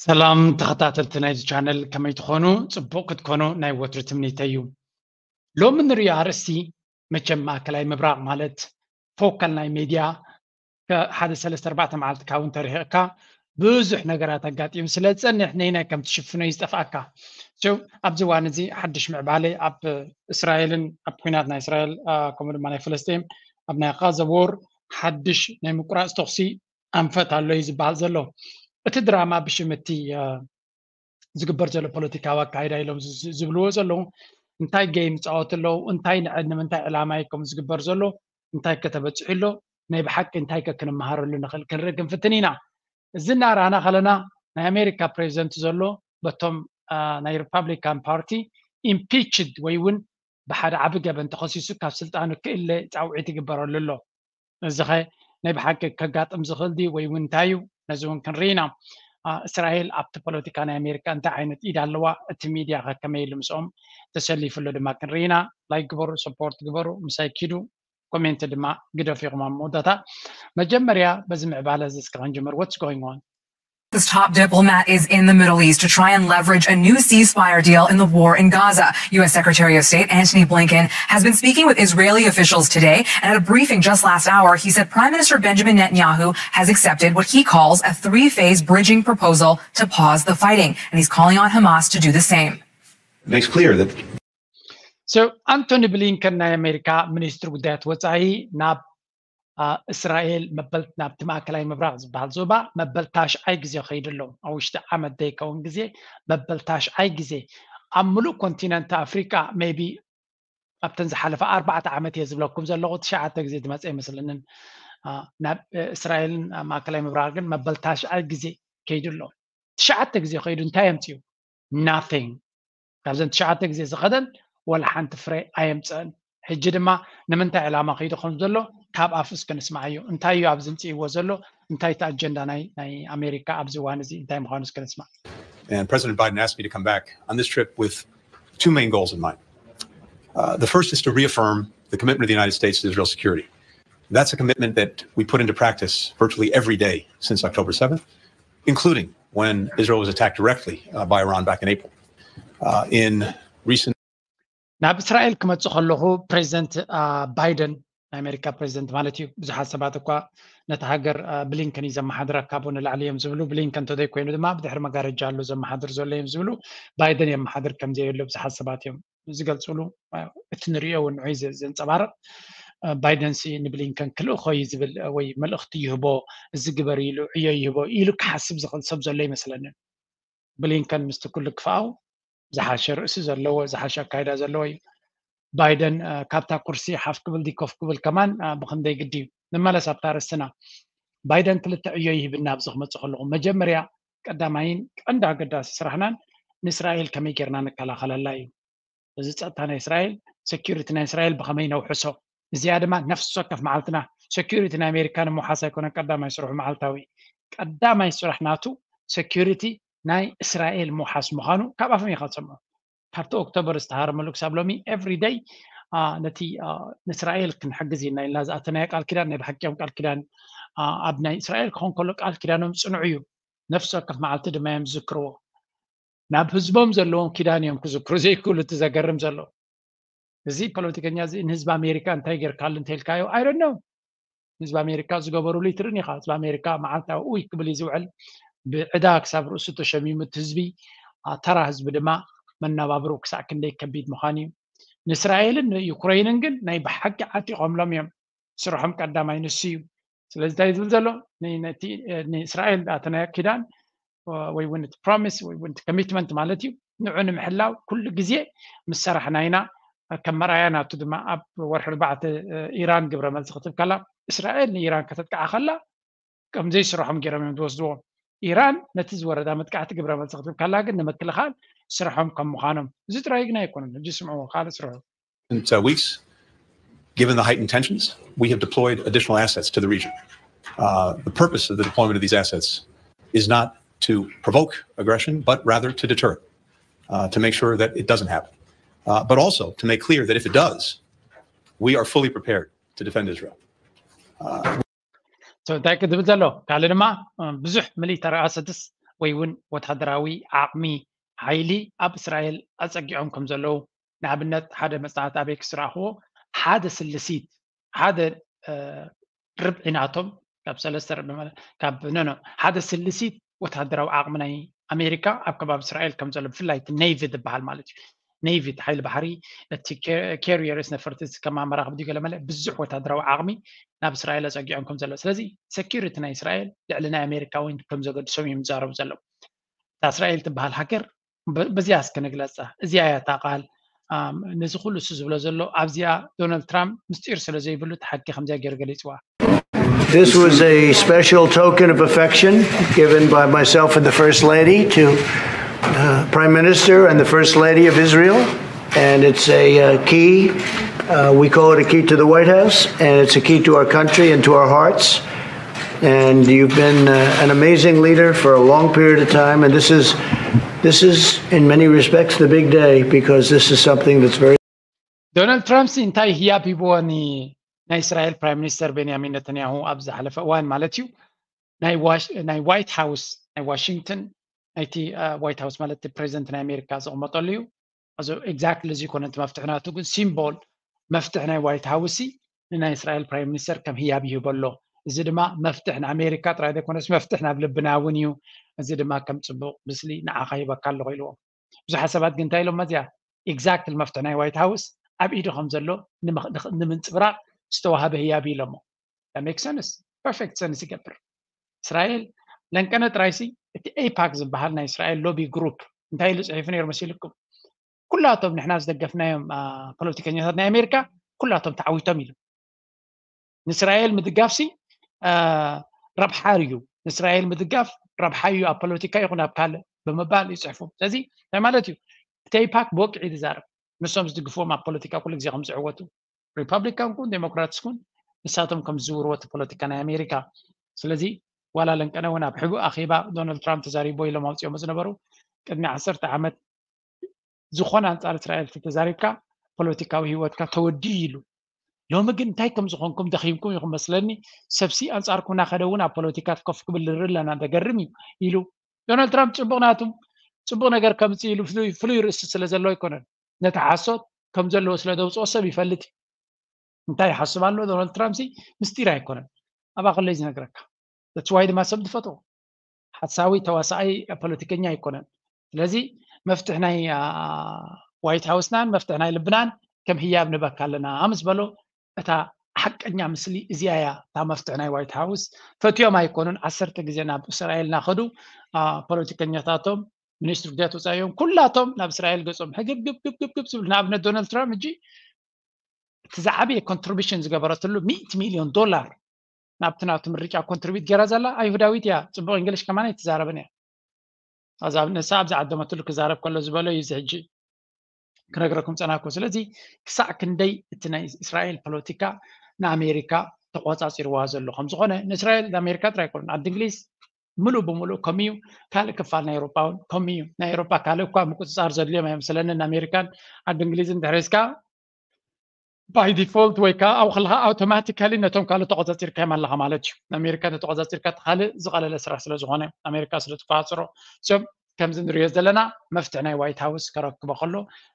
ሰላም ተኸታተልቲ ናይዚ ቻነል፣ ከመይ ትኾኑ? ጽቡቕ ክትኮኑ ናይ ወትሩ ትምኒተይ እዩ። ሎሚ ንሪኦ ኣርእስቲ፣ መቸም ማእከላይ ምብራቕ ማለት ፎካል ናይ ሜድያ፣ ከ-፣ ሓደ ሰለስተ ኣርባዕተ መዓልቲ ካብኡ እንተርሒቕካ ብዙሕ ነገራት ኣጋጢሙ ስለ ዝጸንሕ፣ ነይናይ ከም ትሽፍኖ እዩ ዝጠፍኣካ። So ኣብዚ እዋን እዚ ሓድሽ ምዕባለ ኣብ እስራኤልን ኣብ ኲናት ናይ እስራኤል፣ አ፣ ከምኡ ድማ ናይ ፍልስጤም ኣብ ናይ ጋዛ ዎር ሓድሽ ናይ ምቁራጽ ተኹሲ ኣንፈት ኣሎ እዩ ዝበሃል ዘሎ። እቲ ድራማ ብሽም እቲ፣ አ፣ ዝግበር ዘሎ ፖለቲካዊ ኣካይዳ ኢሎም ዝ-፣ ዝ-፣ ዝብልዎ ዘለዉ እንታይ ጌም ይጻወቱ ኣለዉ፣ እንታይ ንዕድ ንምንታይ ዕላማ እዩ ከምኡ ዝግበር ዘሎ፣ እንታይ ከተበጽሑ ኣሎ፣ ናይ ብሓቂ እንታይ ከ ክንመሃረሉ ንኽእል ክንርኢ ክንፍትን ኢና። እዚ እናረኣና ከለና ናይ ኣሜሪካ ፕሬዚደንት ዘሎ በቶም፣ አ፣ ናይ ሪፓብሊካን ፓርቲ ኢምፒችድ ወይ እውን ብሓደ ዓቢ ገበን ተኸሲሱ ካብ ስልጣኑ ክእለ ጻውዒት ይግበረሉ ኣሎ። እዚ ኸ ናይ ብሓቂ ከጋጥም ዝኽእል ድዩ ወይ እውን እንታይ እዩ? ነዚ እውን ክንርኢ ኢና። አ፣ እስራኤል ኣብቲ ፖለቲካ ናይ ኣሜሪካ እንታይ ዓይነት ኢድ ኣለዋ? እቲ ሚድያ ኸ ከመይ ኢሉ ምስኦም ተሰሊፉ ኣሎ ድማ ክንርኢ ኢና። ላይክ ግበሩ፣ ሰፖርት ግበሩ፣ ምሳይ ኪዱ፣ ኮሜንት ድማ ግደፉ ኢኹም። ኣብ መወዳእታ መጀመርያ በዚ ምዕባለ እዚ እስከ ክንጅምር። What's going on? This top diplomat is in the Middle East to try and leverage a new ceasefire deal in the war in Gaza. U S Secretary of State Antony Blinken has been speaking with Israeli officials today, and at a briefing just last hour, he said Prime Minister Benjamin Netanyahu has accepted what he calls a three-phase bridging proposal to pause the fighting, and he's calling on Hamas to do the same. Makes clear that So ኣንቶኒ ብሊንከን ናይ ኣሜሪካ ሚኒስትሪ ጉዳያት ወጻኢ ናብ፣ አ፣ እስራኤል መበል ናብቲ ማእከላይ ምብራቕ ዝበሃል ዞባ መበል ታሽዓይ ግዜ ከይዱ ኣሎ። ኣብ ውሽጢ ዓመት ዘይከውን ግዜ መበል ታሽዓይ ግዜ ኣብ ምሉእ ኮንቲነንት ኣፍሪቃ ሜቢ ኣብተን ዝሓለፈ ኣርባዕተ ዓመት እየ ዝብለኩም ዘለኹ ትሽዓተ ግዜ ዝመፀ ይመስለንን። አ፣ ናብ፣ እ፣ እስራኤልን ኣብ ማእከላይ ምብራቕ ግን መበል ታሽዓይ ግዜ ከይዱ ኣሎ። ትሽዓተ ግዜ ከይዱ እንታይ የምፅኡ? Nothing። ካብዘን ትሽዓተ ግዜ ዝኸደን ወላ ሓንቲ ፍረ ኣየምፀአን። ሕጂ ድማ ንምንታይ ዕላማ ከይዱ ከም ዘሎ ካብ ኣፉ እስከ ንስማዓዮ። እንታይ እዩ ኣብዚ ምፅእዎ ዘሎ? እንታይ እቲ ኣጀንዳ ናይ ናይ ኣሜሪካ ኣብዚ እዋን እዚ እንታይ ምዃኑ እስከ ንስማዕ። And President Biden asked me to come back on this trip with two main goals in mind. Uh, the first is to reaffirm the commitment of the United States to Israel's security. That's a commitment that we put into practice virtually every day since October seventh, including when Israel was attacked directly uh, by Iran back in April. Uh, in recent ናብ እስራኤል ክመፅእ ከለኹ ፕሬዚደንት፣ አ፣ ባይደን ናይ ኣሜሪካ ፕሬዚደንት ማለት እዩ። ብዙሓት ሰባት እኳ ነቲ ሃገር፣ አ፣ ብሊንከን እዩ ዘመሓድራ ካብኡ ንላዕሊ እዮም ዝብሉ። ብሊንከን እንተዘይኮይኑ ድማ ብድሕሪ መጋረጃ ኣሎ ዘመሓድር ዘሎ እዮም ዝብሉ። ባይደን የመሓድር ከም ዘየሎ ብዙሓት ሰባት እዮም ዝገልፅሉ። አ፣ እቲ ንሪኦ እውን ንዑይ ዘ-፣ ዘንፀባርቕ፣ አ፣ ባይደን ሲ ንብሊንከን ክልእኾ እዩ ዝብል፣ አ፣ ወይ መልእኽቲ ይህቦ፣ እዚ ግበር ኢሉ ዕዮ ይህቦ ኢሉ ክሓስብ ዝኽእል ሰብ ዘሎ ይመስለንን። ብሊንከን ምስቲ ኩሉ ክፍኣው ዝሓሸ ርእሲ ዘለዎ፣ ዝሓሸ ኣካይዳ ዘለዎ እዩ። ባይደን፣ አ፣ ካብታ ኩርሲ ሓፍ ክብል ድዩ ኮፍ ክብል ከማን፣ አ፣ ብኽንደይ ግዲ እዩ። ንመለስ ኣብታ ርእስና። ባይደን ክልተ ዕዮ ይህብና ኣብዚ ክመጽእ ከለኹ። መጀመርያ ቀዳማይን ቀንዲ ኣገዳሲ ስራሕናን ንእስራኤል ከመይ ጌርና ንከላኸለላ እዩ። እዚ ጸጥታ ናይ እስራኤል፣ ሴኩሪቲ ናይ እስራኤል ብኸመይ ነውሕሶ? እዚኣ ድማ ነፍሲ ወከፍ መዓልትና ሴኩሪቲ ናይ ኣሜሪካ ንምውሓስ ኣይኮነን ቀዳማይ ስርሑ መዓልታዊ። ቀዳማይ ስራሕ ናቱ ሴኩሪቲ ናይ እስራኤል ምውሓስ ምዃኑ ካብ ኣፎም ኢኻ ትሰምዖ። ካብቲ ኦክቶበር ዝተሃረመሉ ክሳብ ሎሚ ኤቭሪ ደይ፣ አ፣ ነቲ፣ አ፣ ንእስራኤል ክንሕግዝ ኢና ኢልና ዝኣተናዮ ቃል ኪዳን ናይ ብሓቂ እዮም ቃል ኪዳን፣ አ፣ ኣብ ናይ እስራኤል ክኾን ከሎ ቃል ኪዳኖም ጽኑዕ እዩ። ነፍሲ ወከፍ መዓልቲ ድማ እዮም ዝዝክርዎ። ናብ ህዝቦም ዘለዎም ኪዳን እዮም ክዝክሩ ዘይክእሉ። እቲ ዘገርም ዘሎ እዚ ፖለቲከኛ እዚ ንህዝቢ ኣሜሪካ እንታይ ጌርካሉ እንተልካዮ፣ I don't know። ህዝቢ ኣሜሪካ ዝገበሩሉ ይትርን ኢኻ። ህዝቢ ኣሜሪካ መዓልታዊ ኡይ ክብል እዩ ዝውዕል። ብዕዳ ክሳብ ርእሱ ተሸሚሙ እቲ ህዝቢ፣ አ፣ ተራ ህዝቢ ድማ መነባብሩ ክሳዕ ክንደይ ከቢድ ምዃኑ እዩ። ንእስራኤልን ንዩክረይንን ግን ናይ ብሓቂ ዓጢቖምሎም እዮም። ስርሖም ቀዳማይ ንሱ እዩ። ስለዚ እንታይ ዝብል ዘሎ? ን-፣ ነቲ፣ እ፣ ንእስራኤል ኣተናዮ ኪዳን፣ እ፣ ወይ እውን እቲ ፕሮሚስ ወይ እውን እቲ ኮሚትመንት ማለት እዩ፣ ንዑ ንምሕላው ኩሉ ግዜ ምስ ሰራሕና ኢና። ከም መርኣያ ናቱ ድማ ኣብ ወርሒ ኣርባዕተ፣ እ፣ ኢራን ግብረ መልሲ ክትብ ከላ፣ እስራኤል ንኢራን ከተጥቅዓ ከላ ከም ዘይስርሖም ገይሮም እዮም ዝወስድዎ። ኢራን ነቲ ዝወረዳ መጥቃዕቲ ግብረ መልሲ ክትብ ከላ ግን ንምክልኻል ስርሖም ከም ምዃኖም። እዚ ጥራይ ግን ኣይኮነን። ሕጂ ስምዕዎ፣ ካልእ ስርሑ። recent uh, weeks, given the heightened tensions, we have deployed additional assets to the region. Uh, the purpose of the deployment of these assets is not to provoke aggression, but rather to deter, uh, to make sure that it doesn't happen, uh, but also to make clear that if it does, we are fully prepared to defend Israel. So እንታይ ክድብል ዘሎ? ካልእ ድማ፣ እ፣ ብዙሕ ሚሊተሪ ኣሰትስ ወይ እውን ወታደራዊ ዓቕሚ ሓይሊ ኣብ እስራኤል ኣፀጊዖም ከም ዘለዉ፣ ንኣብነት ሓደ መፅናዕቲ ኣበይ ክስራኽዎ ሓደ ስልሲት ሓደ ርብዒ ናቶም ካብ ሰለስተ ርብዒ ማለት ካብ ነኖ ሓደ ስልሲት ወታደራዊ ዓቕሚ ናይ ኣሜሪካ ኣብ ከባቢ እስራኤል ከም ዘሎ ብፍላይ ኔቪ ዝበሃል ማለት እዩ። ኔቪ እቲ ሓይሊ ባሕሪ እቲ ካሪየርስ ነፈርቲ ከማን መራኽብ ድዩ ገለ መለ ብዙሕ ወታደራዊ ዓቕሚ ናብ እስራኤል ኣፀጊዖም ከም ዘሎ፣ ስለዚ ሴኪሪቲ ናይ እስራኤል ልዕሊ ናይ ኣሜሪካ እውን ከም ዘገድሶም እዮም ዝዛረቡ ዘለዉ። እታ እስራኤል ትበሃል ሃገር በዚኣ እስከ ንግለፃ። እዚኣ እያ እታ ቃል ነዚ ኩሉ እሱ ዝብሎ ዘሎ ኣብዚኣ ዶናልድ ትራምፕ ምስጢር ስለ ዘይብሉ እቲ ሓቂ ከምዚኣ ገይሩ ገሊፅዋ። This was a special token of affection given by myself and the First Lady to uh, Prime Minister and the First Lady of Israel. And it's a uh, key, uh, we call it a key to the White House, and it's a key to our country and to our hearts. And you've been uh, an amazing leader for a long period of time. And this is, this is in many respects, the big day because this is something that's very ዶናልድ ትራምፕ ሲ እንታይ ህያብ ሂብዎ ናይ እስራኤል ፕራይም ሚኒስተር ቤንያሚን ነተንያሁ ኣብ ዝሓለፈ እዋን ማለት እዩ። ናይ ዋይት ሃውስ ናይ ዋሽንግተን ናይቲ ዋይት ሃውስ ማለት ፕሬዚደንት ናይ ኣሜሪካ ዝቕመጠሉ እዩ። እዚ ኤግዛክትሊ እዚ ይኮነ እቲ መፍትሒ ናቱ ግን ሲምቦል መፍትሒ ናይ ዋይት ሃውስ ንናይ እስራኤል ፕራይም ሚኒስተር ከም ህያብ ይህበሎ። እዚ ድማ መፍትሕ ንኣሜሪካ ጥራይ ዘይኮነስ መፍትሕ ናብ ልብና እውን እዩ። እዚ ድማ ከም ፅቡቅ ምስሊ ንዓኻ ሂበካ ኣለኹ ኢልዎም። ብዙሓት ሰባት ግን እንታይ ኢሎም መዚያ ኤግዛክትሊ መፍትሒ ናይ ዋይት ሃውስ ኣብ ኢዱ ከም ዘሎ ንምንፅብራቅ ዝተዋሃበ ህያብ ኢሎሞ። ሜክ ሰንስ ፐርፌክት ሰንስ ይገብር። እስራኤል ለንቀነ ጥራይሲ እቲ ኤፓክ ዝበሃል ናይ እስራኤል ሎቢ ግሩፕ እንታይ ኢሉ ፅሒፉ ነይሩ መሲልኩም? ኩላቶም ንሕና ዝደገፍናዮም ፖለቲከኛታት ናይ ኣሜሪካ ኩላቶም ተዓዊቶም ኢሉ። ንእስራኤል ምድጋፍሲ ረብሓ እዩ፣ ንእስራኤል ምድጋፍ ረብሓ እዩ ኣብ ፖለቲካ ይኹን ኣብ ካልእ ብምባል ይፅሕፉ። ስለዚ እንታይ ማለት እዩ? እቲ ኤፓክ ብወግዒ ዝዛረብ ንሶም ዝድግፍዎም ኣብ ፖለቲካ ኩሉ ግዜ ከም ዝዕወቱ ሪፐብሊካን ኩን ዴሞክራትስ ኩን ንሳቶም ከም ዝዝውርዎ እቲ ፖለቲካ ናይ ኣሜሪካ። ስለዚ ዋላ ለንቀነ እውን ኣብ ሕቡእ ኣኼባ ዶናልድ ትራምፕ ተዛሪቦ ኢሎም ኣውፅኦሞ ዝነበሩ ቅድሚ ዓሰርተ ዓመት ዝኾነ ኣንፃር እስራኤል ተተዛሪብካ ፖለቲካዊ ህይወትካ ተወዲኡ ኢሉ። ሎሚ ግን እንታይ ከም ዝኾንኩም ደኺምኩም ኢኹም መስለኒ። ሰብሲ ኣንፃርኩም እናኸደ እውን ኣብ ፖለቲካ ኮፍ ክብል ንርኢ ኣለና፣ ዘገርም እዩ ኢሉ። ዶናልድ ትራምፕ ፅቡቕ ናቱ ፅቡቕ ነገር ከምፅእ ኢሉ ፍሉይ ርእሲ ስለ ዘለዎ ኣይኮነን። ነቲ ሓሶት ከም ዘለዎ ስለ ዘውፅኦ ሰብ ይፈልጥ እዩ። እንታይ ይሓስብ ኣሎ ዶናልድ ትራምፕ ሲ ምስጢር ኣይኮነን። ኣባ ከለይ ዝነግረካ። That's why ድማ ሰብ ዝፈትዎ ሓሳዊ ተዋሳኣይ ፖለቲከኛ ኣይኮነን። ስለዚ መፍትሕ ናይ ዋይት ሃውስናን መፍትሕ ናይ ልብናን ከም ህያብ ንበካ ኣለና ምስ በሎ እታ ሓቀኛ ምስሊ እዚኣ እያ። እታ መፍትሕ ናይ ዋይት ሃውስ ፈትዮም ኣይኮኑን። ዓሰርተ ግዜ ናብ እስራኤል እናኸዱ ፖለቲከኛታቶም ሚኒስትሪ ጉዳያት ወፃኢ እዮም ኩላቶም ናብ እስራኤል ገፆም ሕግብግብግብግብ ዝብሉ። ንኣብነት ዶናልድ ትራምፕ ሕጂ እቲ ዝዓበየ ኮንትሪቢሽን ዝገበረትሉ ሚእቲ ሚልዮን ዶላር ናብቲ ናብቲ ምርጫ ኮንትሪቢት ገይራ ዘላ ኣይሁዳዊት እያ። ፅቡቅ እንግሊሽ ከማን ኣይትዛረብን እያ። ንሳ ኣብ ዝዓደመትሉ ክዛረብ ከሎ ዝበሎ እዩ። እዚ ሕጂ ክነግረኩም ፀናኩ። ስለዚ ክሳዕ ክንደይ እቲ ናይ እስራኤል ፖለቲካ ንኣሜሪካ ተቆፃፂርዋ ዘሎ ከምዝኾነ ንእስራኤል ንኣሜሪካ ጥራይ ኣይኮነን። ዓዲ እንግሊዝ ምሉእ ብምሉእ ከምኡ እዩ። ካልእ ክፋል ናይ ኤሮጳ እውን ከምኡ እዩ። ናይ ኤሮጳ ካልእ እኳ ምቁፅፃር ዘድልዮም ኣይመስለንን። ኣሜሪካን ዓዲ እንግሊዝን ድሕሪ እስካ ባይ ዲፎልት ወይ ከዓ ኣብኡ ከለካ ኣውቶማቲካሊ ነቶም ካልእ ተቆፃፂርካዮም ኣለካ ማለት እዩ። ንኣሜሪካ ተተቆፃፂርካ እቲ ካልእ ዝቀለለ ስራሕ ስለ ዝኾነ ኣሜሪካ ስለ ትቆፃፅሮ። So ከምዚ ንሪኦ ዘለና መፍትሒ ናይ ዋይት ሃውስ ከረክቦ ከሎ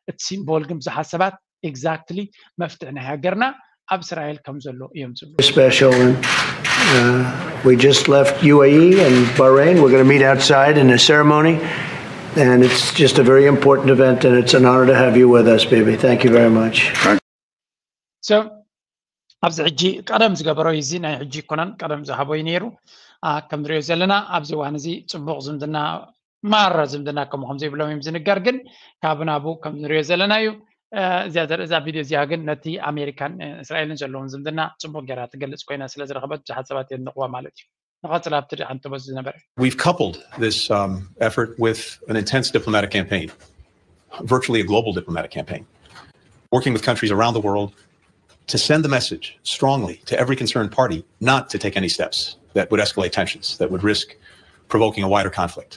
እቲ ሲምቦል ግን ብዙሓት ሰባት ኤግዛክትሊ መፍትሒ ናይ ሃገርና ኣብ እስራኤል ከም ዘሎ እዮም ዝብሉ። Special. And uh, we just left U A E and Bahrain. We're going to meet outside in a ceremony. And it's just a very important event, and it's an honor to have you with us, baby. Thank you very much. So ኣብዚ ሕጂ ቀደም ዝገበሮ እዚ ናይ ሕጂ ይኮነን፣ ቀደም ዝሃቦ እዩ ነይሩ። ከም ንሪኦ ዘለና ኣብዚ እዋን እዚ ፅቡቅ ዝምድና ማራ ዝምድና ከምኡ ከም ዘይብሎም እዮም ዝንገር። ግን ካብ ናቡ ከም ንሪኦ ዘለና እዩ። እዚኣ ዘርኢ እዛ ቪድዮ እዚኣ ግን ነቲ ኣሜሪካን እስራኤልን ዘለዎም ዝምድና ፅቡቅ ገይራ ትገልፅ ኮይና ስለ ዝረኸበት ብዙሓት ሰባት የድንቕዋ ማለት እዩ። ንቐፅል ኣብቲ ሓንቲ በዚ ዝነበረ We've coupled this um, effort with an intense diplomatic campaign, virtually a global diplomatic campaign, working with countries around the world to send the message strongly to every concerned party not to take any steps that would escalate tensions, that would risk provoking a wider conflict.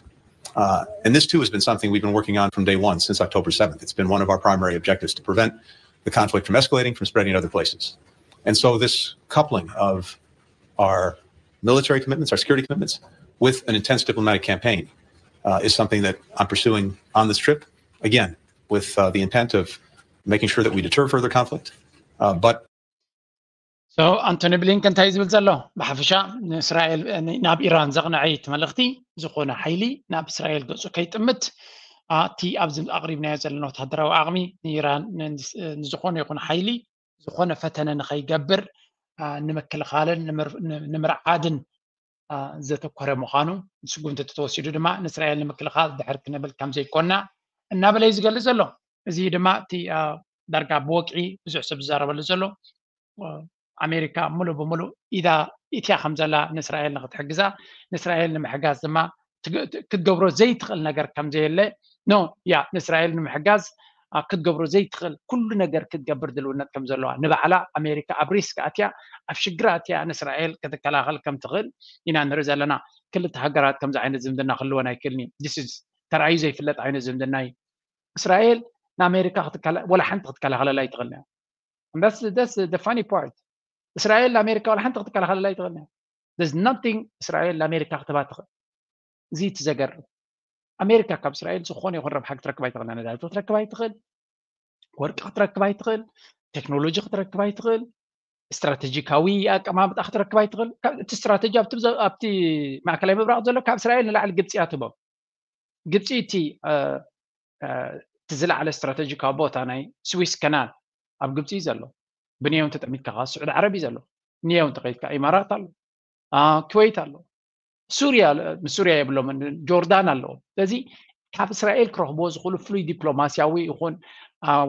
Uh, and this too has been something we've been working on from day one since October seventh. It's been one of our primary objectives to prevent the conflict from escalating, from spreading to other places. And so this coupling of our military commitments, our security commitments, with an intense diplomatic campaign uh, is something that I'm pursuing on this trip. Again, with uh, the intent of making sure that we deter further conflict. Uh, but So ኣንቶኒ ብሊንከን እንታይ ዝብል ዘሎ? ብሓፈሻ ንእስራኤል ናብ ኢራን ዘቕንዐ እቲ መልእኽቲ፣ ዝኾነ ሓይሊ ናብ እስራኤል ገጹ ከይጥምት፣ እቲ ኣብዚ ኣቕሪብናዮ ዘለና ወታደራዊ ዓቕሚ ንኢራን ንዝኾነ ይኹን ሓይሊ ዝኾነ ፈተነ ንኸይገብር ንምክልኻልን ንምርዓድን ዘተኮረ ምዃኑ፣ ስጉምቲ ተወሲዱ ድማ ንእስራኤል ንምክልኻል ድሕር ክንብል ከም ዘይኮና እናበለ እዩ ዝገልጽ ዘሎ። እዚ ድማ እቲ ዳርጋ ብወግዒ ብዙሕ ሰብ ዝዛረበሉ ዘሎ፣ ኣሜሪካ ሙሉእ ብሙሉእ ኢዳ ኢትያ ከም ዘላ ንእስራኤል ንክትሕግዛ፣ ንእስራኤል ንምሕጋዝ ድማ ክትገብሮ ዘይትኽእል ነገር ከም ዘየለ፣ ኖ ያ ንእስራኤል ንምሕጋዝ ክትገብሮ ዘይትኽእል ኩሉ ነገር ክትገብር ድልውነት ከም ዘለዋ፣ ንባዕላ ኣሜሪካ ኣብ ሪስክ ኣትያ ኣብ ሽግር ኣትያ ንእስራኤል ክትከላኸል ከም ትኽእል ኢና ንርኢ ዘለና። ክልተ ሃገራት ከምዚ ዓይነት ዝምድና ክህልወን ኣይክእልን እዩ። This is ተራእዩ ዘይፍለጥ ዓይነት ዝምድና እዩ። እስራኤል ንኣሜሪካ ወላ ሓንቲ ክትከላኸለላ ኣይትኽእልን እያ። That's the funny part. እስራኤል ንኣሜሪካ ወላ ሓንቲ ክትከላኸለላ ኣይትኽእልን እያ። There's nothing እስራኤል ንኣሜሪካ ክትህባ ትኽእል። እዚ እቲ ዘገርም። ኣሜሪካ ካብ እስራኤል ዝኾነ ይኹን ረብሓ ክትረክብ ኣይትኽእል። ነዳዲ ክትረክብ ኣይትኽእል፣ ወርቂ ክትረክብ ኣይትኽእል፣ ቴክኖሎጂ ክትረክብ ኣይትኽእል፣ ስትራቴጂካዊ ኣቀማምጣ ክትረክብ ኣይትኽእል። እቲ ስትራቴጂ ኣብቲ ማእከላይ ምብራቕ ዘሎ ካብ እስራኤል ንላዕሊ ግብፂ እያ ትህቦም። ግብፂ እቲ እቲ ዝለዓለ ስትራቴጂካዊ ቦታ ናይ ስዊስ ከናል ኣብ ግብፂ እዩ ዘሎ። ብንየው እንተጠሚትካ ከዓ ስዑዲ ዓረብ እዩ ዘሎ። ንየው እንተኸይድካ ኢማራት ኣሎ፣ ኩዌት ኣሎ፣ ሱርያ፣ ምስ ሱርያ የብሎም፣ ጆርዳን ኣለዎ። ስለዚ ካብ እስራኤል ክረኽብዎ ዝኽእሉ ፍሉይ ዲፕሎማስያዊ ይኹን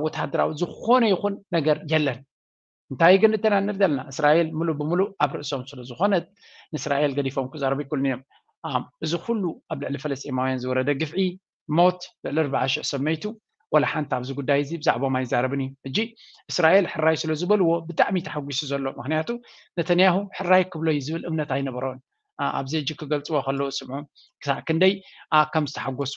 ወታደራዊ ዝኾነ ይኹን ነገር የለን። እንታይ ግን እተናንር ዘለና እስራኤል ሙሉ ብሙሉ ኣብ ርእሶም ስለ ዝኾነት ንእስራኤል ገዲፎም ክዛረቡ ይክእሉን እዮም። እዚ ኩሉ ኣብ ልዕሊ ፈለስጢማውያን ዝወረደ ግፍዒ፣ ሞት፣ ልዕሊ ኣርባዓ ሽሕ ሰብ መይቱ፣ ወላ ሓንቲ ኣብዚ ጉዳይ እዚ ብዛዕባኦም ኣይዛረብን እዩ። ሕጂ እስራኤል ሕራይ ስለ ዝበልዎ ብጣዕሚ ተሓጒሱ ዘሎ። ምክንያቱ ነተንያሁ ሕራይ ክብሎ እዩ ዝብል እምነት ኣይነበሮን። ኣብዚ ሕጂ ክገልፅዎ ከለዉ ስምዑ ክሳዕ ክንደይ ከም ዝተሓጎሱ።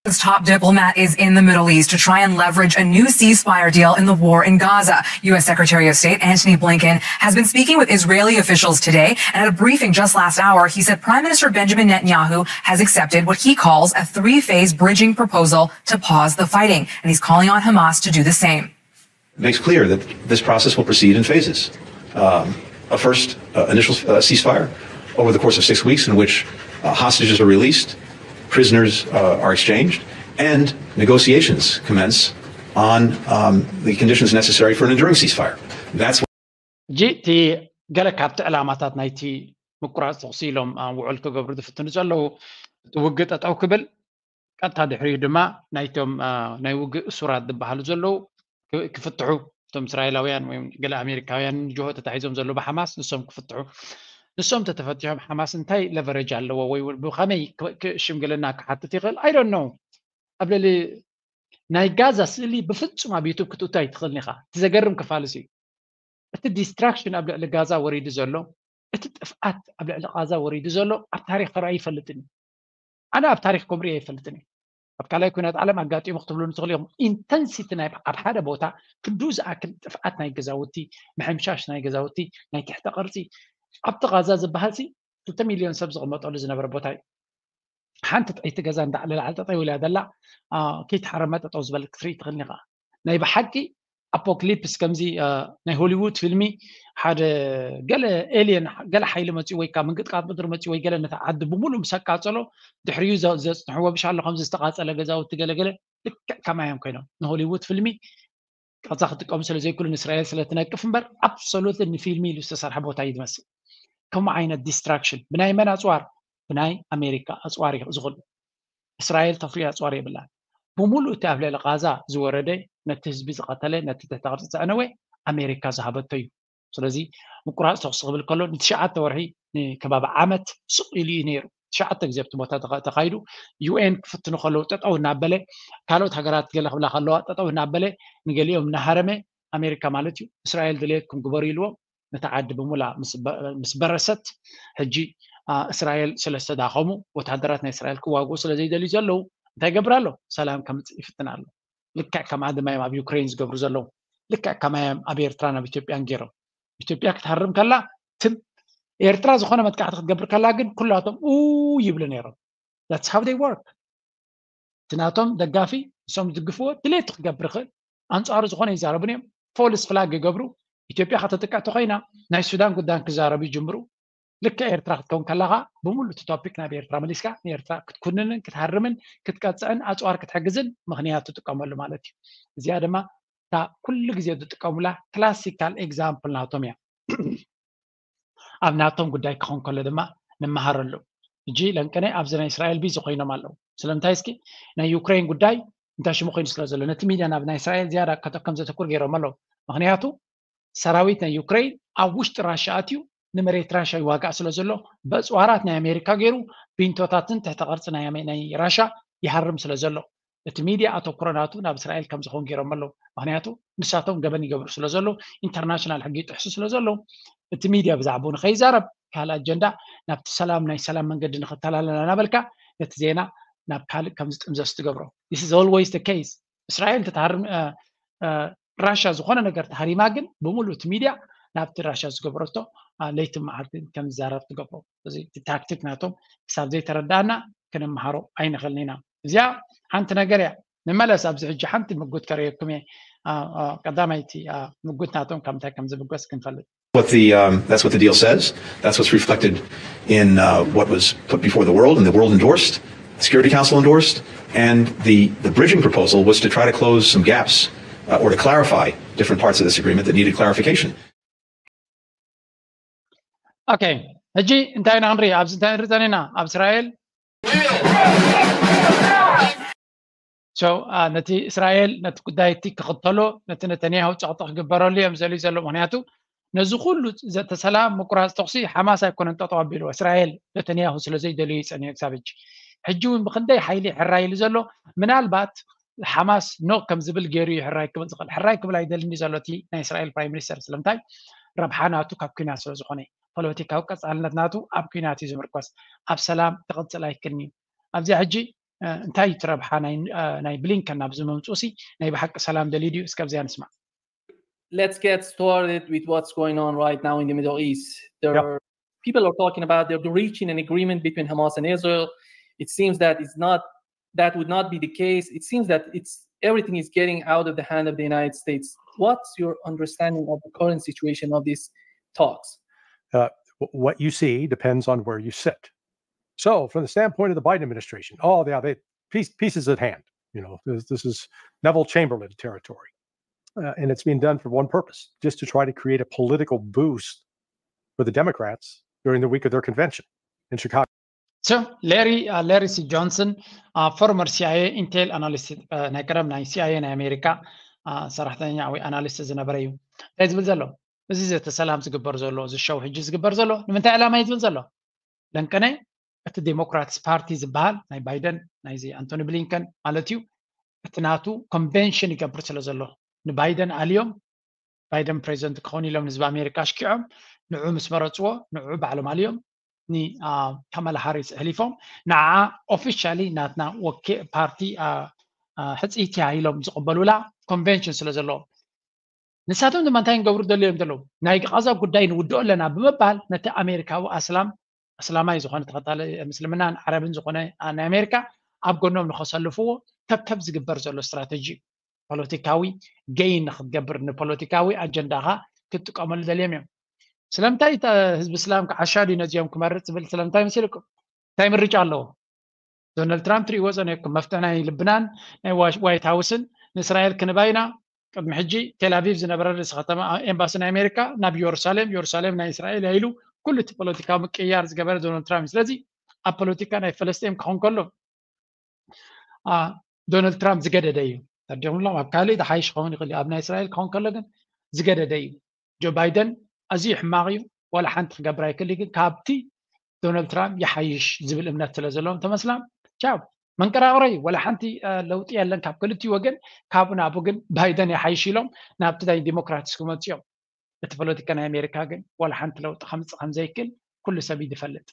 This top diplomat is in the Middle East to try and leverage a new ceasefire deal in the war in Gaza. U S Secretary of State Antony Blinken has been speaking with Israeli officials today, and at a briefing just last hour, he said Prime Minister Benjamin Netanyahu has accepted what he calls a three-phase bridging proposal to pause the fighting, and he's calling on Hamas to do the same. It makes clear that this process will proceed in phases. Um, a first uh, initial uh, ceasefire over the course of six weeks in which uh, hostages are released, prisoners uh, are exchanged, and negotiations commence on um, the conditions necessary for an enduring ceasefire. That's what ሕጂ እቲ ገለ ካብቲ ዕላማታት ናይቲ ምቁራፅ ተኹሲ ኢሎም ውዕል ክገብሩ ዝፍትኑ ዘለዉ፣ እቲ ውግእ ጠጠው ክብል፣ ቀጥታ ድሕሪኡ ድማ ናይቶም ናይ ውግእ እሱራት ዝበሃሉ ዘለዉ ክፍትሑ፣ እቶም እስራኤላውያን ወይ ገለ ኣሜሪካውያን ጅሆ ተታሒዞም ዘለዉ ብሓማስ ንሶም ክፍትሑ። ንሶም ተተፈቲሖም ሓማስ እንታይ ለቨረጅ ኣለዎ ወይ ብኸመይ ሽምግልና ክሓትት ይኽእል? I don't know። ኣብ ልዕሊ ናይ ጋዛ ስእሊ ብፍጹም ኣብ ዩቱብ ክትእቱ ኣይትኽእልን ኢኻ። እቲ ዘገርም ክፋልስ እዩ። እቲ ዲስትራክሽን ኣብ ልዕሊ ጋዛ ወሪዱ ዘሎ፣ እቲ ጥፍኣት ኣብ ልዕሊ ጋዛ ወሪዱ ዘሎ ኣብ ታሪክ ተራእዩ ይፈልጥን እዩ። ኣነ ኣብ ታሪክ ከምሪኦ ኣይፈልጥን እዩ። ኣብ ካልኣይ ኩናት ዓለም ኣጋጢሙ ክትብሉ ንትኽእሉ ኢኹም። ኢንተንሲቲ ናይ ኣብ ሓደ ቦታ ክንዱ ዝኣክል ጥፍኣት ናይ ገዛውቲ፣ ምሕምሻሽ ናይ ገዛውቲ፣ ናይ ትሕተ ቅርፂ ኣብቲ ጋዛ ዝበሃል ሲ ክልተ ሚልዮን ሰብ ዝቕመጠሉ ዝነበረ ቦታ እዩ። ሓንቲ ጥይቲ ገዛ እንዳዕለ ላዕሊ ጠጠው ኢላ ዘላ ከይተሓረመ ጠጠው ዝበለት ክትርኢ ትኽእል ኢኻ። ናይ ብሓቂ ኣፖክሊፕስ ከምዚ ናይ ሆሊውድ ፊልሚ ሓደ ገለ ኤልየን ገለ ሓይሊ መፅኡ ወይ ካብ ምንቅጥቃጥ ምድሪ መፅኡ ወይ ገለ ነታ ዓዲ ብምሉእ ምስ ኣቃፀሎ ድሕሪኡ ዘፅንሕዎ ብሻሎ ከምዚ ዝተቃፀለ ገዛውቲ ገለገለ ልክዕ ከማዮም ኮይኖም ንሆሊውድ ፊልሚ ቀዛ ክጥቀሙ ስለ ዘይክእሉ ንእስራኤል ስለ ትነቅፍ እምበር ኣብሶሉት ንፊልሚ ኢሉ ዝተሰርሐ ቦታ እዩ ዝመስል። ከምኡ ዓይነት ዲስትራክሽን ብናይ መን ኣፅዋር? ብናይ ኣሜሪካ ኣፅዋር እዩ ዝኽእሉ። እስራኤል ተፍርዮ ኣፅዋር የብላን። ብምሉእ እቲ ኣብ ልዕሊ ቃዛ ዝወረደ ነቲ ህዝቢ ዝቐተለ ነቲ ትሕተ ቅርፂ ዘዕነወ ኣሜሪካ ዝሃበቶ እዩ። ስለዚ ምቁራፅ ተኩሲ ክብል ከሎ ንትሽዓተ ወርሒ ንከባቢ ዓመት ስቕ ኢሉ እዩ ነይሩ። ትሽዓተ ግዜ ኣብቲ ቦታ ተኻይዱ ዩኤን ክፍትኑ ከለዉ ጠጠው እናበለ ካልኦት ሃገራት ገለ ክብላ ከለዋ ጠጠው እናበለ ንገሊኦም እናሃረመ ኣሜሪካ ማለት እዩ እስራኤል ድልየትኩም ግበሩ ኢልዎም ነቲ ዓዲ ብሙላ ምስ በረሰት ሕጂ እስራኤል ስለ ዝተዳኸሙ ወታደራት ናይ እስራኤል ክዋግኡ ስለ ዘይደልዩ ዘለዉ እንታይ ይገብር ኣሎ? ሰላም ከምፅእ ይፍትን ኣሎ። ልክዕ ከምኣ ድማ እዮም ኣብ ዩክሬን ዝገብሩ ዘለዉ። ልክዕ ከማይ እዮም ኣብ ኤርትራን ኣብ ኢትዮጵያን ገይሮም። ኢትዮጵያ ክትሃርም ከላ ትም፣ ኤርትራ ዝኾነ መጥቃዕቲ ክትገብር ከላ ግን ኩላቶም ኡ ይብሉ ነይሮም። That's how they work። እቲ ናቶም ደጋፊ ንሶም ዝድግፍዎ ድሌቱ ክገብር ይኽእል። ኣንጻሩ ዝኾነ ይዛረቡን እዮም። ፎልስ ፍላግ ይገብሩ። ኢትዮጵያ ከተጥቅዕ ተኮይና ናይ ሱዳን ጉዳይ ክዛረቡ ይጅምሩ። ልክዕ ኤርትራ ክትከውን ከላኻ ብምሉእ እቲ ቶፒክ ናብ ኤርትራ መሊስካ ንኤርትራ ክትኩንንን ክትሃርምን ክትቀጽዕን ኣጽዋር ክትሕግዝን ምኽንያት ትጥቀመሉ ማለት እዩ። እዚኣ ድማ እታ ኩሉ ግዜ ዝጥቀሙላ ክላሲካል ኤግዛምፕል ናቶም እያ። ኣብ ናቶም ጉዳይ ክኾን ከሎ ድማ ንመሃረሉ። ሕጂ ለንቅነ ኣብዚ ናይ እስራኤል ቢዚ ኮይኖም ኣለዉ። ስለምንታይ እስኪ ናይ ዩክሬን ጉዳይ እንታይ ሽሙ ኮይኑ ስለ ዘሎ ነቲ ሚድያ ናብ ናይ እስራኤል ዝያዳ ከም ዘተኩር ገይሮም ኣለዉ። ምክንያቱ ሰራዊት ናይ ዩክሬን ኣብ ውሽጢ ራሻ ኣትዩ ንመሬት ራሻ ይዋጋእ ስለ ዘሎ በፅዋራት ናይ ኣሜሪካ ገይሩ ቢንቶታትን ትሕተ ቅርፂ ናይ ራሻ ይሃርም ስለ ዘሎ እቲ ሚድያ ኣተኩሮ ናቱ ናብ እስራኤል ከም ዝኸውን ገይሮም ኣለዉ። ምክንያቱ ንሳቶም ገበን ይገብሩ ስለ ዘለዉ ኢንተርናሽናል ሕጊ ይጥሕሱ ስለ ዘለዉ እቲ ሚድያ ብዛዕባኡ ንከይዛረብ ካልእ ኣጀንዳ ናብቲ ሰላም ናይ ሰላም መንገዲ ንክተላለና እናበልካ ነቲ ዜና ናብ ካልእ ከም ዝጥምዘስ ትገብሮ። This is always the case። እስራኤል ተታሃርም ራሻ ዝኾነ ነገር ተሃሪማ ግን ብምሉእ እቲ ሚድያ ናብቲ ራሻ ዝገበረቶ ለይትን መዓልትን ከም ዝዛረብ ትገብሮ። እዚ ታክቲክ ናቶም ክሳብ ዘይተረዳእና ክንመሃሮ ኣይንኽእልን ኢና። እዚኣ ሓንቲ ነገር እያ። ንመለስ ኣብዚ ሕጂ ሓንቲ ምጉት ከርእየኩም እየ። ቀዳማይቲ ምጉት ናቶም ካብ ምንታይ ከም ዝብገስ ክንፈልጥ። What the, um, that's what the deal says. That's what's reflected in uh, what was put before the world and the world endorsed, the Security Council endorsed, and the, the bridging proposal was to try to close some gaps uh, or to clarify different parts of this agreement that needed clarification. Okay, ሕጂ እንታይ ኢና ክንርኢ ኣብዚ እንታይ ንርኢ ዘለና ኣብ እስራኤል so ነቲ እስራኤል ነቲ ጉዳይ እቲ ክኽተሎ ነቲ ነተንያሁ ጸቕጢ ክግበረሉ እዮም ዘልዩ ዘሎ ምክንያቱ ነዚ ኩሉ ዘተሰላም ምቁራፅ ተኩሲ ሓማስ ኣይኮነን ጠጠው ኣቢልዎ እስራኤል ነተንያሁ ስለ ዘይደልዩ ይፀንዮ ክሳብ ሕጂ ሕጂ እውን ብክንደይ ሓይሊ ሕራይ ኢሉ ዘሎ ምናልባት ሓማስ ኖ ከም ዝብል ገይሩ እዩ ሕራይ ክብል ዝኽእል ሕራይ ክብል ኣይደልን እዩ ዘሎ እቲ ናይ እስራኤል ፕራይም ሚኒስተር ስለምንታይ ረብሓ ናቱ ካብ ኩናት ስለ ዝኾነ ፖለቲካዊ ቀፃልነት ናቱ ኣብ ኩናት እዩ ዝምርኮስ ኣብ ሰላም ክቕፅል ኣይክልን እዩ ኣብዚኣ ሕጂ እንታይ እዩ እቲ ረብሓ ናይ ብሊንከን ናብዚ ምምፅኡ ሲ ናይ ብሓቂ ሰላም ደልዩ ድዩ እስከ ኣብዚኣ ንስማዕ let's get started with what's going on right now in the Middle East. There yep. are people are talking about they're reaching an agreement between Hamas and Israel. It seems that it's not that would not be the case. It seems that it's everything is getting out of the hand of the United States. What's your understanding of the current situation of these talks? Uh, what you see depends on where you sit. So, from the standpoint of the Biden administration, oh, yeah, they peace, peace is at hand. You know, this, this is Neville Chamberlain territory. Uh, and it's being done for one purpose, just to try to create a political boost for the Democrats during the week of their convention in Chicago. So, Larry, uh, Larry C. Johnson, uh, former CIA Intel analyst, uh, ናይ ቀደም ናይ CIA ናይ ኣሜሪካ uh, ሰራሕተኛ ወይ ኣናሊስት ዝነበረ እዩ። እንታይ ዝብል ዘሎ? እዚ ዘተ ሰላም ዝግበር ዘሎ፣ እዚ ሸው ሕጂ ዝግበር ዘሎ ንምንታይ ዕላማ እዩ ዝብል ዘሎ? ለንቀነ እቲ ዴሞክራትስ ፓርቲ ዝበሃል ናይ ባይደን ናይዚ ኣንቶኒ ብሊንከን ማለት እዩ እቲ ናቱ ኮንቨንሽን ይገብር ስለ ዘሎ ንባይደን ኣልዮም ባይደን ፕሬዚደንት ክኸውን ኢሎም ንህዝቢ ኣሜሪካ ኣሽኪዖም ንዑ ምስ መረፅዎ ንዑ ባዕሎም ኣልዮም ንካማላ ሃሪስ ኣሕሊፎም ንዓ ኦፊሻሊ ናትና ወኪ ፓርቲ ሕፅይቲ ኢሎም ዝቕበሉላ ኮንቨንሽን ስለ ዘለዎም ንሳቶም ድማ እንታይ ንገብሩ ደልዮም ዘለዉ ናይ ቃዛ ጉዳይ ንውድኦ ኣለና ብምባል ነቲ ኣሜሪካዊ ኣስላም ኣስላማይ ዝኾነ ተኸታሊ ምስልምናን ዓረብን ዝኾነ ናይ ኣሜሪካ ኣብ ጎኖም ንኸሰልፍዎ ተብተብ ዝግበር ዘሎ ስትራተጂ እዩ ፖለቲካዊ ገይን ንክትገብር ንፖለቲካዊ ኣጀንዳኻ ክትጥቀመሉ ደልዮም እዮም ስለምንታይ ህዝቢ እስላም ክዓሻ ድዩ ነዚኦም ክመርፅ ዝብል ስለምንታይ መሲልኩም እንታይ ምርጫ ኣለዎ ዶናልድ ትራምፕ ትሪእዎ ፀኒሕኩም መፍትሒ ናይ ልብናን ናይ ዋይት ሃውስን ንእስራኤል ክንባይና ቅድሚ ሕጂ ቴል ኣቪቭ ዝነበረ ርእሲ ከተማ ኤምባሲ ናይ ኣሜሪካ ናብ የሩሳሌም የሩሳሌም ናይ እስራኤል እያ ኢሉ ኩሉ እቲ ፖለቲካዊ ምቅያር ዝገበረ ዶናልድ ትራምፕ ስለዚ ኣብ ፖለቲካ ናይ ፈለስጢን ክኾን ከሎ ዶናልድ ትራምፕ ዝገደደ እዩ ተርዲኹምሎም ኣብ ካልእ ዝሓይሽ ክኸውን ይኽእል ኣብ ናይ እስራኤል ክኾን ከሎ ግን ዝገደደ እዩ ጆ ባይደን ኣዝዩ ሕማቕ እዩ ዋላ ሓንቲ ክገብር ኣይክእል ግን ካብቲ ዶናልድ ትራምፕ ይሓይሽ ዝብል እምነት ስለ ዘለዎም ተመስላም ቻው መንቀራቕሮ እዩ ዋላ ሓንቲ ለውጢ የለን ካብ ክልቲኡ ወገን ካብኡ ናብኡ ግን ባይደን ይሓይሽ ኢሎም ናብቲ ናይ ዲሞክራትስ ክመፁ እዮም እቲ ፖለቲካ ናይ ኣሜሪካ ግን ዋላ ሓንቲ ለውጢ ከምፅእ ከምዘይክእል ኩሉ ሰብ እዩ ዝፈልጥ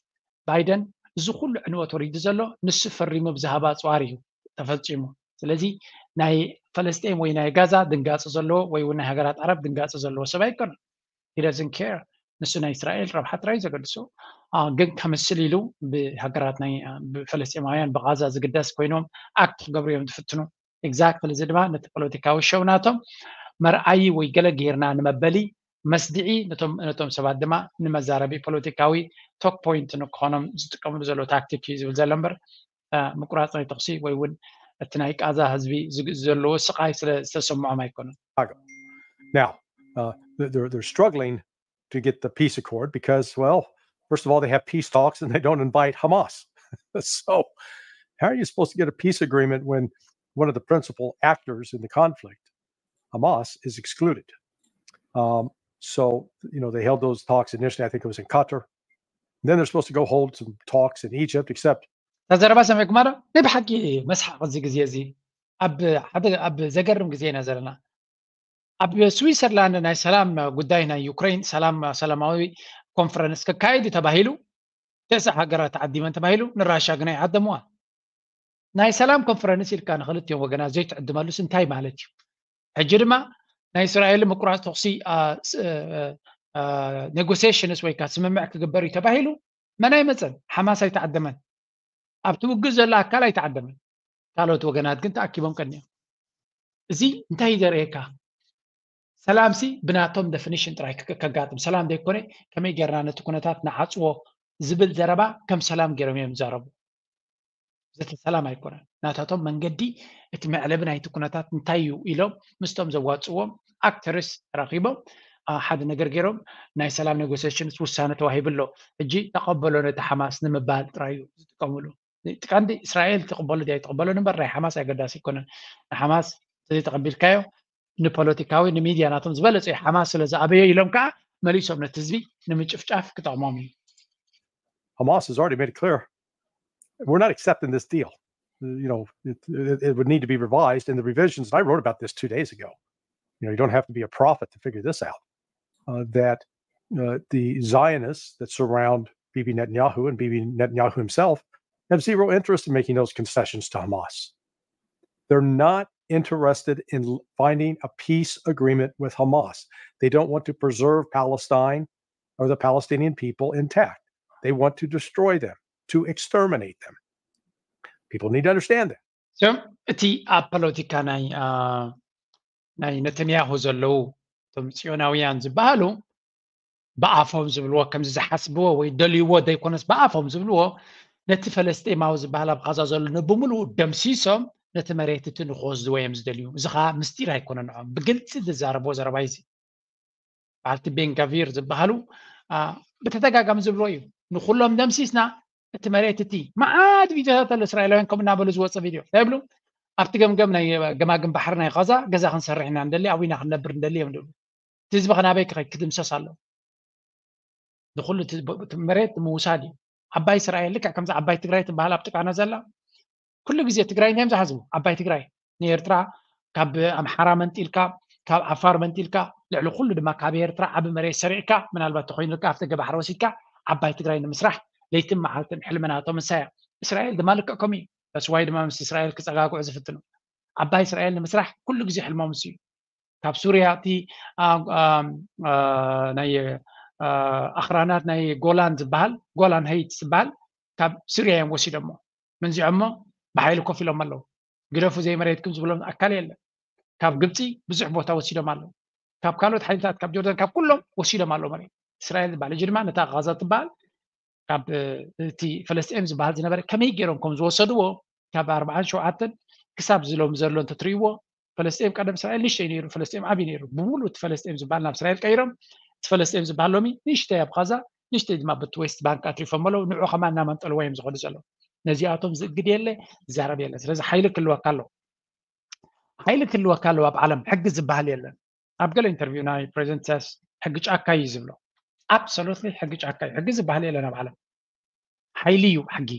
ባይደን እዚ ኩሉ ዕንወት ወሪዱ ዘሎ ንሱ ፈሪሙ ብዝሃባ ኣፅዋር እዩ ተፈፂሙ ስለዚ ናይ ፈለስጤን ወይ ናይ ጋዛ ድንጋፂ ዘለዎ ወይ እውን ናይ ሃገራት ዓረብ ድንጋፂ ዘለዎ ሰብ ኣይኮነን he doesn't care ንሱ ናይ እስራኤል ረብሓ ጥራይ ዘገድሶ። ግን ከምስል ኢሉ ብሃገራት ናይ ብፈለስጢማውያን ብጋዛ ዝግደስ ኮይኖም ኣክት ክገብሩ እዮም ዝፍትኑ። ኤግዛክትሊ እዚ ድማ ነቲ ፖለቲካዊ ሸው ናቶም መርኣዪ ወይ ገለ ጌርና ንመበሊ መስድዒ ነቶም ሰባት ድማ ንመዛረቢ ፖለቲካዊ ቶክ ፖይንት ንክኾኖም ዝጥቀምሉ ዘሎ ታክቲክ እዩ ዝብል ዘሎ እምበር ምቁራፅ ናይ ተኽሲ ወይ እውን እቲ ናይ ቃዛ ህዝቢ ዘለዎ ስቃይ ስለ ዝተሰምዖም ኣይኮነን። Now, uh, they're, they're struggling to get the peace accord because, well, first of all, they have peace talks and they don't invite Hamas. So how are you supposed to get a peace agreement when one of the principal actors in the conflict, Hamas, is excluded? Um, so, you know, they held those talks initially, I think it was in Qatar. Then they're supposed to go hold some talks in Egypt, except እታ ዘረባ ሰሚዕኩማ ዶ? ናይ ብሓቂ መስሓቕ እዚ ግዜ እዚ ኣብ ሓደ ኣብ ዘገርም ግዜ ኢና ዘለና። ኣብ ስዊሰርላንድ ናይ ሰላም ጉዳይ ናይ ዩክሬን ሰላም ሰላማዊ ኮንፈረንስ ክካየድ እዩ ተባሂሉ። ተስዓ ሃገራት ተዓዲመን ተባሂሉ፣ ንራሻ ግና ይዓደምዋ። ናይ ሰላም ኮንፈረንስ ኢልካ ንክልቲኦም ወገናት ዘይትዕድመሉስ እንታይ ማለት እዩ? ሕጂ ድማ ናይ እስራኤል ምቁራፅ ተኩሲ ኔጎሲሽንስ ወይ ከዓ ስምምዕ ክግበር እዩ ተባሂሉ፣ መን ኣይመፀን? ሓማስ ኣይተዓደመን። ኣብቲ ውግእ ዘሎ ኣካል ኣይተዓደመን። ካልኦት ወገናት ግን ተኣኪቦም ቀኒዮም። እዚ እንታይ እዩ ዘርእየካ? ሰላምሲ ብናቶም ደፊኒሽን ጥራይ ከጋጥም ሰላም ዘይኮነ ከመይ ጌርና ነቲ ኩነታት ንዓፅዎ ዝብል ዘረባ ከም ሰላም ገይሮም እዮም ይዛረቡ። ዘተ ሰላም ኣይኮነን። ናታቶም መንገዲ እቲ መዕለቢ ናይቲ ኩነታት እንታይ እዩ ኢሎም ምስቶም ዘዋፅዎም ኣክተርስ ተራኺቦም ሓደ ነገር ገይሮም ናይ ሰላም ኔጎሲሽንስ ውሳነ ተዋሂቡ ኣሎ። ሕጂ ተቐበሎ ነቲ ሓማስ ንምባል ጥራይ እዩ ዝጥቀምሉ። ቀንዲ እስራኤል ትቕበሎ ድያ ኣይትቕበሎን እምበር ናይ ሓማስ ኣገዳሲ ኣይኮነን። ንሓማስ እንተዘይተቐቢልካዮ ንፖለቲካዊ ንሚድያ ናቶም ዝበለጸ ሓማስ ስለ ዝኣበዮ ኢሎም ከዓ መሊሶም ነቲ ህዝቢ ንምጭፍጫፍ ክጠቕሞም እዩ። Hamas has already made it clear we're not accepting this deal. You know, it, it, it would need to be revised. And the revisions, I wrote about this two days ago. You know, you don't have to be a prophet to figure this out. Uh, that uh, the Zionists that surround Bibi Netanyahu and Bibi Netanyahu himself have zero interest in making those concessions to Hamas. They're not interested in finding a peace agreement with Hamas. They don't want to preserve Palestine or the Palestinian people intact. They want to destroy them, to exterminate them. People need to understand that. So እቲ ኣብ ፖለቲካ ናይ ናይ ነተንያሁ ዘለዉ እቶም ጽዮናውያን ዝበሃሉ ብኣፎም ዝብልዎ ከምዚ ዝሓስብዎ ወይ ደልይዎ ዘይኮነስ ብኣፎም ዝብልዎ ነቲ ፈለስጢማዊ ዝበሃል ኣብ ኻዛ ዘሎ ንብምሉኡ ደምሲሶም ነቲ መሬት እቲ ንክወስድዎ እዮም ዝደልዩ። እዚ ኸዓ ምስጢር ኣይኮነን። ንዖም ብግልፂ ዝዛረብዎ ዘረባ እዚ በዓልቲ ቤንጋቪር ዝበሃሉ ብተደጋጋሚ ዝብልዎ እዩ። ንኩሎም ደምሲስና እቲ መሬት እቲ መዓት ቪድዮታት ኣሎ እስራኤላውያን ከምኡ እናበሉ ዝወፀ ቪድዮ እንታይ ይብሉ? ኣብቲ ገምገም ናይ ገማግም ባሕሪ ናይ ኻዛ ገዛ ክንሰርሕ ኢና ንደሊ ኣብኡ ኢና ክንነብር ንደሊ እዮም ዝብሉ። እቲ ህዝቢ ከናበይ ክኸይ ክድምሰስ ኣሎ። ንኩሉ መሬት ምውሳድ እዩ። ዓባይ እስራኤል ልክዕ ከምዚ ዓባይ ትግራይ ትበሃል ኣብ ጥቃና ዘላ ኩሉ ግዜ ትግራይ እንታይ እዮም ዝሓስቡ? ዓባይ ትግራይ ንኤርትራ ካብ ኣምሓራ መንጢልካ ካብ ዓፋር መንጢልካ ልዕሊ ኩሉ ድማ ካብ ኤርትራ ዓቢ መሬት ሰሪዕካ ምናልባት ተኮይኑልካ ኣብቲ ገባሕሪ ወሲድካ ዓባይ ትግራይ ንምስራሕ ለይትን መዓልትን ሕልምናቶም ንሳያ። እስራኤል ድማ ልክዕ ከምኡ እዩ። ተስዋይ ድማ ምስ እስራኤል ክፀጋግዑ ዝፍትኑ ዓባይ እስራኤል ንምስራሕ ኩሉ ግዜ ሕልሞም እሱ እዩ። ካብ ሱርያ እቲ ናይ ኣኽራናት ናይ ጎላን ዝበሃል ጎላን ሀይት ዝበሃል ካብ ሱርያ እዮም ወሲዶሞ። መንዚዖሞ ብሓይሊ ኮፍ ኢሎም ኣለዉ። ግደፉ ዘይመሬትኩም ዝብሎም ኣካል የለን። ካብ ግብፂ ብዙሕ ቦታ ወሲዶም ኣለዉ። ካብ ካልኦት ሓይልታት ካብ ጆርዳን ካብ ኩሎም ወሲዶም ኣለዉ መሬት። እስራኤል ዝበሃል እጂ ድማ ነታ ቃዛ ትበሃል ካብ እቲ ፈለስጢኤም ዝበሃል ዝነበረ ከመይ ገይሮም ከም ዝወሰድዎ ካብ ኣርባዓን ሸውዓተን ክሳብ ዝሎም ዘሎ እንተትርእይዎ ፈለስጢኤም ቀደም እስራኤል ንሽተይ ነይሩ፣ ፈለስጢኤም ዓብዪ ነይሩ። ብምሉእ እቲ ፈለስጢኤም ዝበሃል ናብ እስራኤል ቀይሮም እቲ ፈለስጢኤም ዝበሃል ሎሚ ንሽተይ ኣብ ኻዛ ንሽተይ ድማ ብቲ ዌስት ባንክ ኣትሪፎም ኣለዉ። ንዑ ከማን እናመንጠልዎ እዮም ዝኸዱ ዘለዉ። ነዚኣቶም ዝእግድ የለ፣ ዝዛረብ የለ። ስለዚ ሓይሊ ክህልወካ ኣለዎ። ሓይሊ ክህልወካ ኣለዎ። ኣብ ዓለም ሕጊ ዝበሃል የለን። ኣብ ገለ ኢንተርቪው ናይ ፕሬዚደንት ኢሳያስ ሕጊ ጫካ እዩ ዝብሎ። ኣብሶሉትሊ ሕጊ ጫካ እዩ። ሕጊ ዝበሃል የለን ኣብ ዓለም። ሓይሊ እዩ ሕጊ።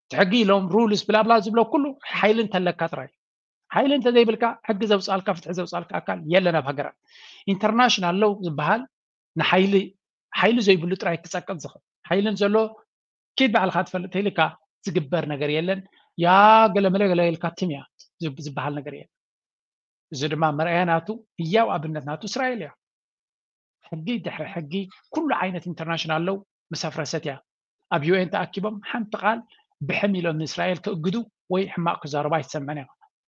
እቲ ሕጊ ኢሎም ሩልስ ብላብላ ዝብሎ ኩሉ ሓይሊ እንተለካ ጥራይ። ሓይሊ እንተዘይብልካ ሕጊ ዘውፅኣልካ ፍትሒ ዘውፅኣልካ ኣካል የለን ኣብ ሃገራት። ኢንተርናሽናል ሎው ዝበሃል ንሓይሊ ሓይሊ ዘይብሉ ጥራይ ክፀቅጥ ዝኽእል ሓይልን ዘሎ ኪድ ባዕልካ ትፈልጥ ተይልካ ዝግበር ነገር የለን። ያ ገለመለ ገለ ኢልካ ትም እያ ዝበሃል ነገር የለን። እዚ ድማ መርኣያ ናቱ ህያው ኣብነት ናቱ እስራኤል እያ። ሕጊ ድሕሪ ሕጊ ኩሉ ዓይነት ኢንተርናሽናል ሎው ምስ ኣፍረሰት እያ። ኣብ ዩ ኤን ተኣኪቦም ሓንቲ ቃል ብሕም ኢሎም ንእስራኤል ክእግዱ ወይ ሕማቕ ክዛረቡ ኣይትሰምዕን ኢኻ።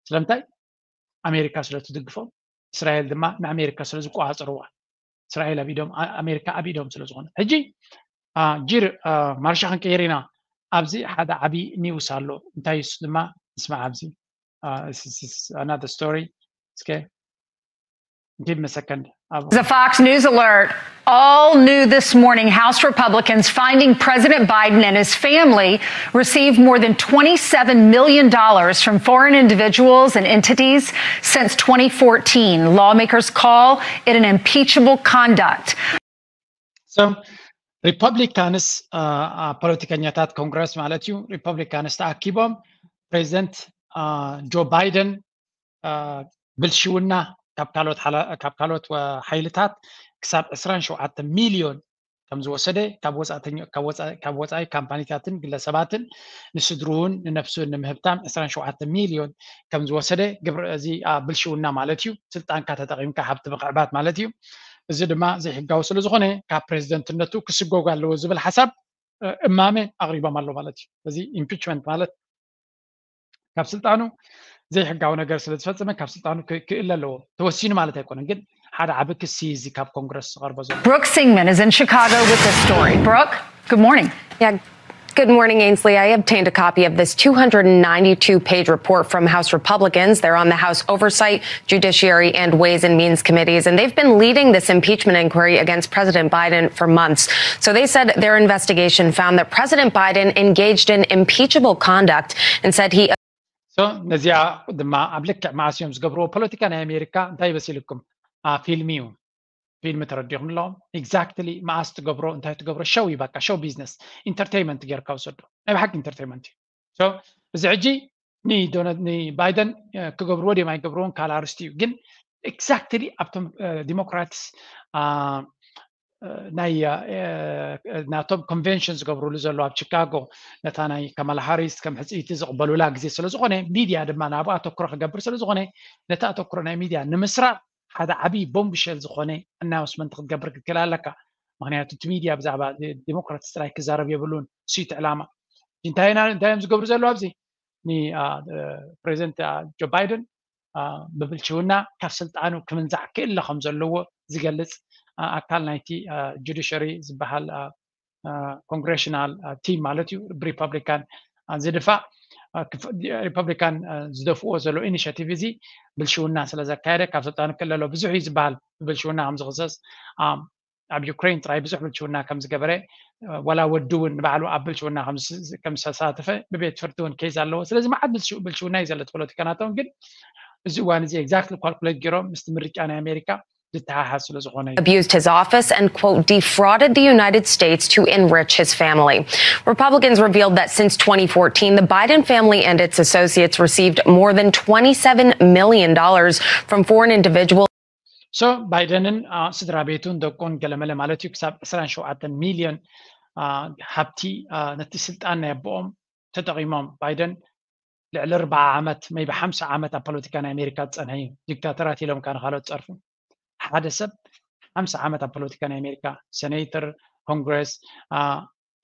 ስለምንታይ? ኣሜሪካ ስለ ትድግፎም፣ እስራኤል ድማ ንኣሜሪካ ስለ ዝቆጻጸርዋ፣ እስራኤል ኣብ ኢዶም፣ ኣ-፣ ኣሜሪካ ኣብ ኢዶም ስለ ዝኾነ። ሕጂ፣ አ፣ ጂር፣ አ፣ ማርሻ ክንቅይር ኢና። ኣብዚ ሓደ ዓቢ ኒውስ ኣሎ። እንታይ እሱ ድማ ንስማዕ ኣብዚ። አ፣ this is another story። እስከ give me a second. ኣብ The Fox News alert. All new this morning. House Republicans finding President Biden and his family received more than twenty-seven million dollars from foreign individuals and entities since twenty fourteen. Lawmakers call it an impeachable conduct. So ሪፐብሊካንስ፣ አ፣ አ፣ ፖለቲከኛታት ኮንግረስ ማለት እዩ። ሪፐብሊካንስ ተኣኪቦም ፕሬዚደንት፣ አ፣ ጆ ባይደን፣ አ፣ ብልሽውና ካብ ካልኦት ሓላ-፣ ካብ ካልኦት ወ-፣ ሓይልታት ክሳብ ዕስራን ሸውዓተ ሚልዮን ከም ዝወሰደ፣ ካብ ወጻእተኛ-፣ ካብ ወጻ-፣ ካብ ወጻኢ ካምፓኒታትን ግለሰባትን ንስድርኡን ንነፍሱን ንምህብታም ዕስራን ሸውዓተ ሚልዮን ከም ዝወሰደ፣ ግብሪ እዚ፣ አ፣ ብልሽውና ማለት እዩ። ስልጣንካ ተጠቒምካ ሃብቲ ምኽዕባት ማለት እዩ። እዚ ድማ ዘይሕጋዊ ስለ ዝኾነ ካብ ፕሬዚደንትነቱ ክስጎግ ኣለዎ ዝብል ሓሳብ፣ እ፣ እማመ ኣቕሪቦም ኣሎ ማለት እዩ። እዚ ኢምፒችመንት ማለት ካብ ስልጣኑ ዘይሕጋዊ ነገር ስለ ዝፈጸመ ካብ ስልጣኑ ክ-፣ ክእለ ኣለዎ። ተወሲኑ ማለት ኣይኮነን፣ ግን ሓደ ዓቢ ክሲ እዚ ካብ ኮንግረስ ዝቐርቦ ዘሎ። Brooke Singman is in Chicago with this story. Brooke, good morning. Yeah. Good morning, Ainsley. I obtained a copy of this two hundred ninety-two page report from House Republicans. They're on the House Oversight, Judiciary, and Ways and Means committees, and they've been leading this impeachment inquiry against President Biden for months. So they said their investigation found that President Biden engaged in impeachable conduct and said he So ነዚኣ ድማ ኣብ ልክዕ መዓስ እዮም ዝገብርዎ? ፖለቲካ ናይ ኣሜሪካ እንታይ ይበሲልኩም? አ፣ ፊልም እዩ። ፊልም ተረዲኹም ኣለኹም። ኤግዛክትሊ መዓስ ትገብሮ፣ እንታይ ትገብሮ? ሸው እዩ፣ በቃ ሸው ቢዝነስ፣ ኢንተርቴይንመንት ጌርካ ውሰዶ። ናይ ብሓቂ ኢንተርቴይንመንት እዩ። So እዚ ሕጂ ንዶናልድ፣ ንባይደን፣ እ፣ ክገብርዎ ድዮም ኣይገብርዎን ካልእ ኣርስቲ እዩ። ግን ኤግዛክትሊ ኣብቶም፣ እ፣ ዲሞክራትስ፣ አ፣ እ፣ ናይ፣ እ፣ እ፣ ናቶም ኮንቨንሽን ዝገብሩሉ ዘሎ ኣብ ቺካጎ፣ ነታ ናይ ካማላ ሃሪስ ከም ሕጽይቲ ዝቕበሉላ ግዜ ስለ ዝኾነ፣ ሚድያ ድማ ናብኡ ኣተኩሮ ክገብር ስለ ዝኾነ፣ ነቲ ኣተኩሮ ናይ ሚድያ ንምስራቕ ሓደ ዓቢ ቦምብሸል ዝኾነ ኣናውንስመንት ክትገብር ክትክእል ኣለካ። ምኽንያቱ እቲ ሚድያ ብዛዕባ ዲ-፣ ዲሞክራትስ ጥራይ ክዛረብ የብሉን። እሱ እቲ ዕላማ። እንታይ ኢና፣ እንታይ እዮም ዝገብሩ ዘለዉ ኣብዚ? ን-፣ አ፣ እ፣ ፕሬዚደንት፣ አ፣ ጆ ባይደን፣ አ፣ ብብልሽውና ካብ ስልጣኑ ክምንዛዕ ክእለ ከም ዘለዎ ዝገልጽ፣ አ፣ ኣካል ናይቲ፣ አ፣ ጁዲሸሪ ዝበሃል፣ አ፣ አ፣ ኮንግሬሽናል፣ አ፣ ቲም ማለት እዩ፣ ብሪፐብሊካን፣ አ፣ ዝድፋእ፣ አ፣ ክፍ-፣ ሪፐብሊካን፣ አ፣ ዝደፍእዎ ዘሎ ኢኒሽቲቭ እዚ ብልሽውና ስለ ዘካየደ ካብ ስልጣኑ ክእለ ኣለዎ። ብዙሕ እዩ ዝበሃል ብብልሽውና ከም ዝኽሰስ። አ፣ ኣብ ዩክሬን ጥራይ ብዙሕ ብልሽውና ከም ዝገበረ፣ አ፣ ዋላ ወዲ እውን ንባዕሉ ኣብ ብልሽውና ከም ዝ-፣ ከም ዝተሳተፈ ብቤት ፍርዲ እውን ኬዝ ኣለዎ። ስለዚ መዓት ብልሽ-፣ ብልሽውና እዩ ዘሎ እቲ ፖለቲካ ናቶም። ግን እዚ እዋን እዚ ኤግዛክትሊ ኳልኩሌት ገይሮም ምስቲ ምርጫ ናይ ኣሜሪካ ዝተሓሓዝ ስለ ዝኾነ እዩ። abused his office and, quote, defrauded the United States to enrich his family. Republicans revealed that since twenty fourteen, the Biden family and its associates received more than twenty-seven million dollars from foreign individuals. So ባይደንን፣ አ፣ ስድራ ቤቱን ደቁን ገለመለ ማለት እዩ ክሳብ ዕስራን ሸውዓተን ሚልዮን፣ አ፣ ሃብቲ፣ አ፣ ነቲ ስልጣን ናይ ኣቦኦም ተጠቒሞም። ባይደን ልዕሊ ኣርብዓ ዓመት፣ ሜይቢ ሓምሳ ዓመት ኣብ ፖለቲካ ናይ ኣሜሪካ ዝጸንሐ እዩ። ዲክታተራት ኢሎም ከኣ ንኻልኦት ጸርፉ። ሓደ ሰብ ሓምሳ ዓመት ኣብ ፖለቲካ ናይ ኣሜሪካ፣ ሴኔተር፣ ኮንግረስ፣ አ፣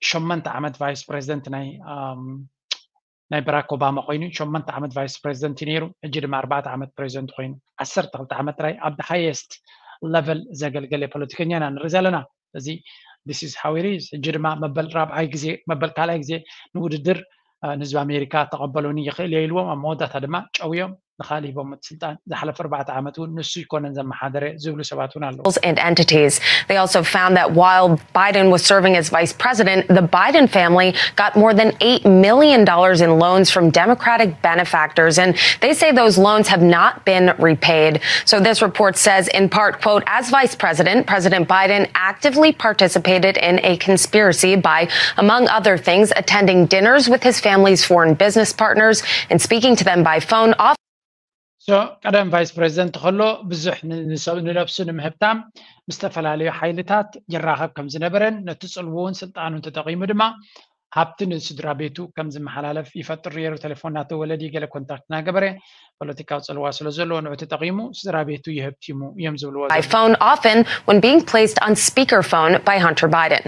ሸመንተ ዓመት ቫይስ ፕሬዚደንት ናይ፣ ኣም፣ ናይ በራክ ኦባማ ኮይኑ፣ ሸመንተ ዓመት ቫይስ ፕሬዚደንት እዩ ነይሩ። ሕጂ ድማ ኣርባዕተ ዓመት ፕሬዚደንት ኮይኑ፣ ዓሰርተ ክልተ ዓመት ጥራይ ኣብ ሃየስት ለቨል ዘገልገለ ፖለቲከኛ ኢና ንርኢ ዘለና። እዚ this is how it is። ሕጂ ድማ መበል ራብዓይ ግዜ፣ መበል ካልኣይ ግዜ ንውድድር፣ አ፣ ንህዝቢ ኣሜሪካ ተቐበሉኒ ይኽእል እየ ኢልዎም፣ ኣብ መወዳእታ ድማ ጨውዮም ንኻልእ ሂቦም እቲ ስልጣን። ዝሓለፈ ኣርባዕተ ዓመት እውን ንሱ ይኮነን ዘመሓደረ ዝብሉ ሰባት እውን ኣለዉ። And entities. They also found that while Biden was serving as vice president, the Biden family got more than eight million dollars in loans from Democratic benefactors, and they say those loans have not been repaid. So this report says, in part, quote, as vice president, President Biden actively participated in a conspiracy by, among other things, attending dinners with his family's foreign business partners and speaking to them by phone. So ቀደም ቫይስ ፕሬዚደንት ከሎ ብዙሕ ን-፣ ንሰብ-፣ ንነብሱ ንምህብታም ምስ ዝተፈላለዩ ሓይልታት ይራኸብ ከም ዝነበረን ነቲ ጽልውውን ስልጣኑን ተጠቒሙ ድማ ሃብቲ ንስድራ ቤቱ ከም ዝመሓላለፍ ይፈጥር ነይሩ። ቴሌፎን እናተወለዲ ገለ ኮንታክት እናገበረ ፖለቲካዊ ጽልዋ ስለ ዘለዎ ንዑ ተጠቒሙ ስድራ ቤቱ ይህብቲሙ እዮም ዝብልዎ by ዘለዉ። phone often when being placed on speakerphone by Hunter Biden.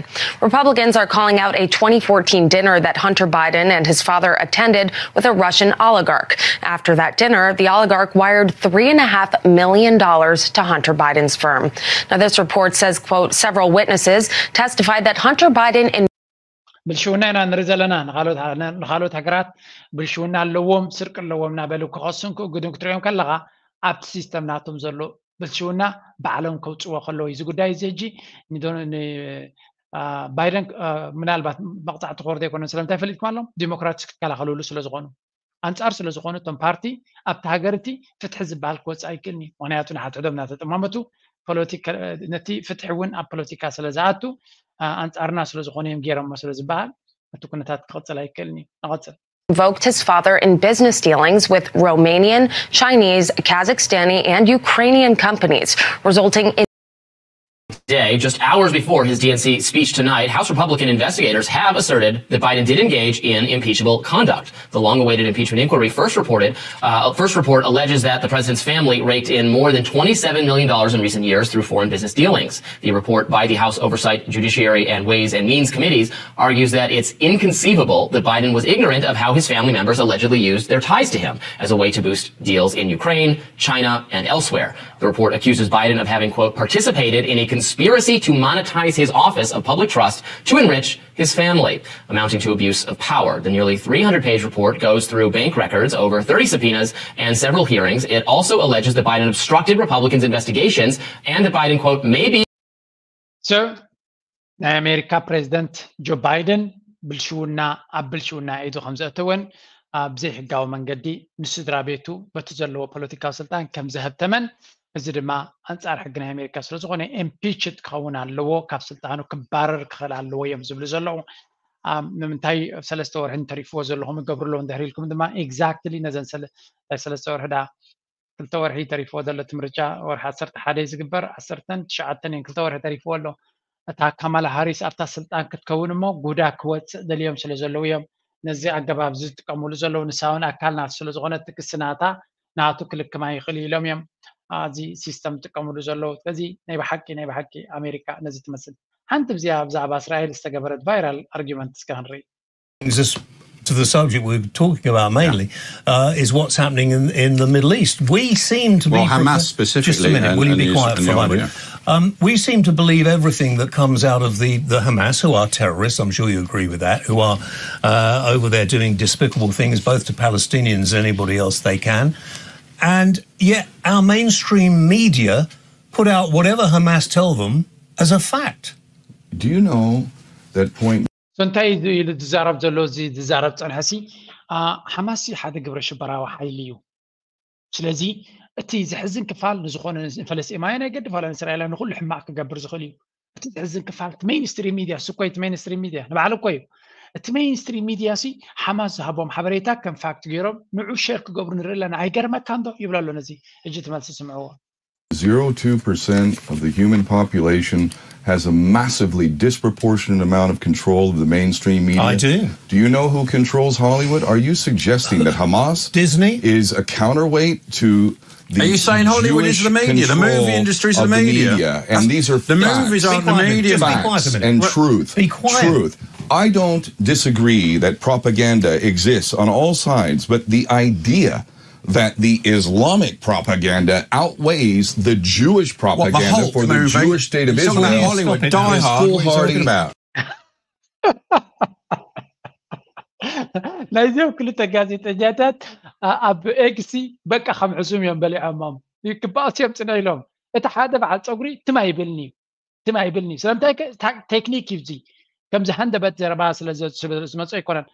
Republicans are calling out a twenty fourteen dinner that Hunter Biden and his father attended with a Russian oligarch. After that dinner, the oligarch wired three and a half million dollars to Hunter Biden's firm. Now, this report says, quote, several witnesses testified that Hunter Biden and ብልሽውና ኢና ንርኢ ዘለና። ንኻልኦት ሃ- ንኻልኦት ሃገራት ብልሽውና ኣለዎም፣ ስርቂ ኣለዎም እናበሉ ክኸሱን ክእግዱን ክትሪኦም ከለኻ ኣብቲ ሲስተም ናቶም ዘሎ ብልሽውና ባዕሎም ከውፅዎ ከለዉ እዚ ጉዳይ እዚ ሕጂ ንዶ- ን- አ፣ ባይደን አ፣ ምናልባት መቕፃዕቲ ክወርዶ ኣይኮነን። ስለምንታይ ፈሊጥኩም ኣሎም? ዲሞክራትስ ክከላኸልሉ ስለ ዝኾኑ፣ ኣንፃር ስለ ዝኾኑ እቶም ፓርቲ ኣብቲ ሃገር እቲ ፍትሒ ዝበሃል ክወፅእ ኣይክእልኒ። ምክንያቱ ንሓድሕዶም እናተጠማመቱ ፖለቲካ ነቲ ፍትሒ እውን ኣብ ፖለቲካ ስለ ዝኣቱ አ፣ ኣንፃርና ስለ ዝኾኑ እዮም ገይሮሞ ስለ ዝበሃል እቲ ኩነታት ክቕፅል ኣይክእልኒ። ንቐፅል። invoked his father in business dealings with Romanian, Chinese, Kazakhstani, and Ukrainian companies, resulting in Today, just hours before his D N C speech tonight, House Republican investigators have asserted that Biden did engage in impeachable conduct. The long-awaited impeachment inquiry first reported, uh, first report alleges that the president's family raked in more than twenty-seven million dollars in recent years through foreign business dealings. The report by the House Oversight, Judiciary, and Ways and Means committees argues that it's inconceivable that Biden was ignorant of how his family members allegedly used their ties to him as a way to boost deals in Ukraine, China, and elsewhere. The report accuses Biden of having, quote, participated in a conspiracy to monetize his office of public trust to enrich his family, amounting to abuse of power. The nearly three hundred page report goes through bank records, over thirty subpoenas, and several hearings. It also alleges that Biden obstructed Republicans' investigations and that Biden, quote, may be So ናይ ኣሜሪካ ፕሬዚደንት ጆ ባይደን ብልሽውና ኣብ ብልሽውና ኢዱ ከም ዘእተወን ኣብ ዘይሕጋዊ መንገዲ ንስድራ ቤቱ በቲ ዘለዎ ፖለቲካዊ ስልጣን ከም ዘህብተመን፣ እዚ ድማ ኣንጻር ሕጊ ናይ ኣሜሪካ ስለ ዝኾነ ኢምፒችድ ክኸውን ኣለዎ፣ ካብ ስልጣኑ ክባረር ክኽእል ኣለዎ እዮም ዝብሉ ዘለዉ። ኣም፣ ንምንታይ ሰለስተ ወርሒ እንተሪፍዎ ዘለኹም ይገብሩ ኣለዉ እንድሕር ኢልኩም ድማ ኤግዛክትሊ ነዘን ሰለ- ሰለስተ ወርሒ ዳ ክልተ ወርሒ ተሪፍዎ ዘሎ እቲ ምርጫ ወርሒ ዓሰርተ ሓደ እዩ ዝግበር። ዓሰርተን ትሽዓተን እየን ክልተ ወርሒ ተሪፍዎ ኣሎ። እታ ካማላ ሃሪስ ኣብታ ስልጣን ክትከውን እሞ ጉዳ ክወፅእ ደልዮም ስለ ዘለዉ እዮም ነዚ ኣገባብ እዚ ዝጥቀምሉ ዘለዉ። ንሳ እውን ኣካል ናቱ ስለ ዝኾነት እቲ ክሲ ናታ ናቱ ክልክማ ይኽእል እዩ ኢሎም እዮም ኣብዚ ሲስተም ዝጥቀምሉ ዘለዉ። ስለዚ ናይ ብሓቂ ናይ ብሓቂ ኣሜሪካ ነዚ ትመስል። ሓንቲ ብዚኣ ብዛዕባ እስራኤል ዝተገበረት ቫይራል ኣርጊመንት እስከ ክንርኢ። Just to the subject we're talking about mainly uh, is what's happening in, in the Middle East. We seem to Well, be Hamas just a specifically minute. and- Will you and be the quiet for a Netanyahu, moment? Yeah. Um, we seem to believe everything that comes out of the, the Hamas, who are terrorists. I'm sure you agree with that. Who are uh, over there doing despicable things, both to Palestinians and anybody else they can. And yet, our mainstream media put out whatever Hamas tell them as a fact. Do you know that point So እንታይ እዩ ኢሉ ዝዛረብ ዘሎ? እዚ ዝዛረብ ፀንሐ ሲ ሓማስ ሓደ ግብረ ሽበራዊ ሓይሊ እዩ። ስለዚ እቲ ዝሕዝን ክፋል ንዝኾነ ንፈለስጢማውያን ኣይገድፍ ዋላ ንእስራኤላውያን ንኩሉ ሕማቕ ክገብር ዝኽእል እዩ። እቲ ዝሕዝን ክፋል እቲ ሜይንስትሪም ሚድያ እሱ እኮ እዩ። እቲ ሜይንስትሪም ሚድያ ንባዕሉ እኮ እዩ። እቲ ሜይንስትሪም ሚድያ ሲ ሓማስ ዝሃቦም ሓበሬታ ከም ፋክት ገይሮም ንዑ ሼር ክገብሩ ንርኢ ኣለና። ኣይገርመካን ዶ ይብሎ ኣሎ። ነዚ ሕጂ እቲ መልሲ ስምዕዎ። zero two percent of the human population has a massively disproportionate amount of control of the mainstream media? I do. Do you know who controls Hollywood? Are you suggesting that Hamas Disney? is a counterweight to the Are you saying Hollywood is Jewish the media? The control movie industry is the of media. media? And these are The facts. movies aren't the quiet. media. Just be Facts quiet a minute. and Well, truth. be quiet. Truth. I don't disagree that propaganda exists on all sides, but the idea that the Islamic propaganda outweighs the Jewish propaganda Hulk for the movie? Jewish state of You're talking about Israel Hollywood, Stop it. Die is Hard. What are you talking foolhardy. About? ናይዚኦም ክልተ ጋዜጠኛታት ኣ- ኣብ ኤክሲ በቃ ከም ሕሱም እዮም በሊዖሞም። ይግባእ እዮም ፅነ ኢሎም። እቲ ሓደ በዓል ፀጉሪ ትም ኣይብልኒ እዩ። ትም ኣይብልኒ እዩ። ስለምንታይ ከ? ታ- ቴክኒክ እዩ እዚ። ከምዚ ሃንደበት ዘረባ ስለ ዘ- ስለ ዝመፁ ኣይኮነን።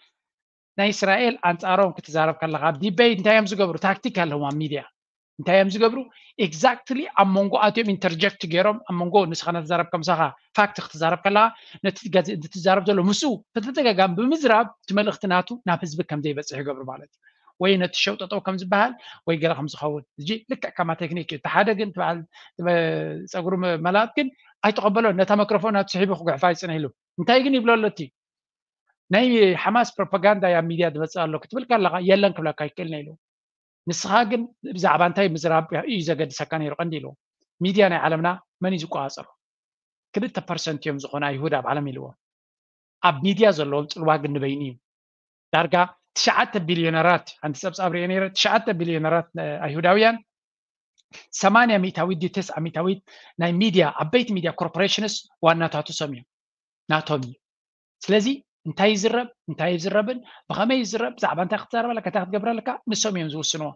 ናይ እስራኤል ኣንፃሮም ክትዛረብ ከለካ ኣብ ዲቤት እንታይ እዮም ዝገብሩ? ታክቲክ ኣለዎም ኣብ ሚድያ። እንታይ እዮም ዝገብሩ? ኤግዛክትሊ ኣብ መንጎ ኣትዮም ኢንተርጀክት ገይሮም ኣብ መንጎ ንስኻ ነትዛረብ ከምሳኻ ፋክት ክትዛረብ ከለካ ነቲ ጋዜ- እቲ ትዛረብ ዘሎ ምስኡ ብተደጋጋሚ ብምዝራብ እቲ መልእኽቲ ናቱ ናብ ህዝቢ ከም ዘይበፅሕ ይገብሩ ማለት እዩ። ወይ ነቲ ሸው ጠጠው ከም ዝበሃል ወይ ገለ ከም ዝኸውን እዚ ልክዕ ከማ ቴክኒክ እዩ። እቲ ሓደ ግን እቲ በዓል እቲ መ- ፀጉሪ መ- መላጥ ግን ኣይተቐበሎን። ነታ መክሮፎን ናቱ ስሒቡ ክጉሕፋ ይፅንሕ ኢሉ እንታይ ግን ይብሎ ኣሎ እቲ ናይ ሓማስ ፕሮፓጋንዳ ኣብ ሚድያ ዝመፅእ ኣሎ ክትብል ከለካ የለን ክብለካ ይክእል ነ ኢሉ። ንስኻ ግን ብዛዕባ እንታይ ምዝራብ እዩ ዘገድሰካ ነይሩ ቀንዲ ኢሉ። ሚድያ ናይ ዓለምና መን እዩ ዝቆፃፀሮ? ክልተ ፐርሰንት እዮም ዝኾኑ ኣይሁድ ኣብ ዓለም ኢልዎ። ኣብ ሚድያ ዘለዎም ፅልዋ ግን ንበይኑ እዩ። ዳርጋ ትሽዓተ ቢልዮነራት ሓንቲ ፀብፃብ ሪኦ ነይረ ትሽዓተ ቢልዮነራት ኣይሁዳውያን ሰማንያ ሚእታዊት ድዩ ተስዓ ሚእታዊት ናይ ሚድያ ዓበይቲ ሚድያ ኮርፖሬሽንስ ዋናታቱ ሰም እዮም ናቶም እዩ። ስለዚ እንታይ ይዝረብ እንታይ ይዝረብን ብኸመይ ይዝረብ ብዛዕባ እንታይ ክትዛረብ ኣለካ እንታይ ክትገብር ኣለካ ንሶም እዮም ዝውስንዎ።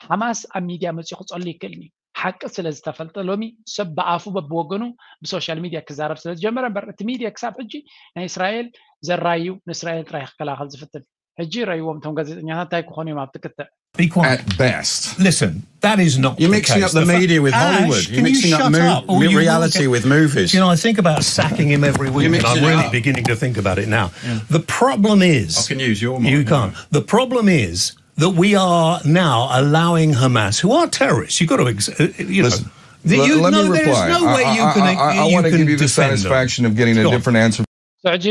ሓማስ ኣብ ሚድያ መፅኡ ክፀሉ ይክእልኒ ሓቂ ስለ ዝተፈልጠ ሎሚ ሰብ ብኣፉ በብወገኑ ብሶሻል ሚድያ ክዛረብ ስለ ዝጀመረ እምበር እቲ ሚድያ ክሳብ ሕጂ ናይ እስራኤል ዘራዩ ንእስራኤል ጥራይ ክከላኸል ዝፍትን ሕጂ ረይዎም እቶም ጋዜጠኛታት እንታይ ክኾኑ እዮም ኣብቲ ክትዕ Be quiet. At best. Listen, that is not. You're the mixing case. up the, the media with Ash, Hollywood. You're mixing you up, mo- up, reality with movies. You know, I think about sacking him every week, and I'm really up. beginning to think about it now. Yeah. The problem is, I can use your. You can't. The problem is that we are now allowing Hamas, who are terrorists, you've got to, uh, you Listen, know. That let, you, let no, me reply. There's no way I, you can. I, I, I want to give you the satisfaction of getting a different answer. ሕጂ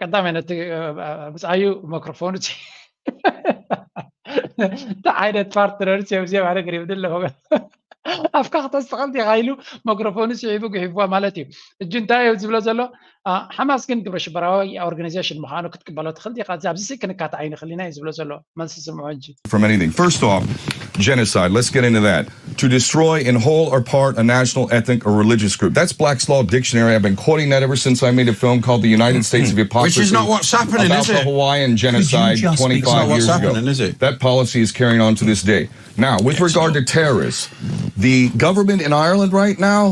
ቀዳማይ ነቲ ብፃዩ መክሮፎኑ እንታይ ዓይነት ፓርትነር እዮም እዚኦም ኣነ ገሪምኒ ኣለኹ ኣፍካ ክተስተኸል ዲኻ ኢሉ መክሮፎኑ ስዒቡ ግሒፍዋ ማለት እዩ። እጂ እንታይ እዩ ዝብሎ ዘሎ? ሓማስ ግን ግብረ ሽበራዊ ኦርጋናይዜሽን ምዃኑ ክትቅበሎ ትኽእል ዲኻ? ኣብዚ ኣብዚ ክንካት ኣይንኽእል ኢና እዩ ዝብሎ ዘሎ። መልሲ ስምዑ ሕጂ። From anything. First off, genocide. Let's get into that. To destroy in whole or part a national, ethnic, or religious group. That's Black's Law Dictionary. I've been quoting that ever since I made a film called The United States of Hypocrisy. Which is not what's happening, about is it? The Hawaiian genocide twenty-five years ago. That policy is carrying on to this day. Now, with regard to terrorists, the government in Ireland right now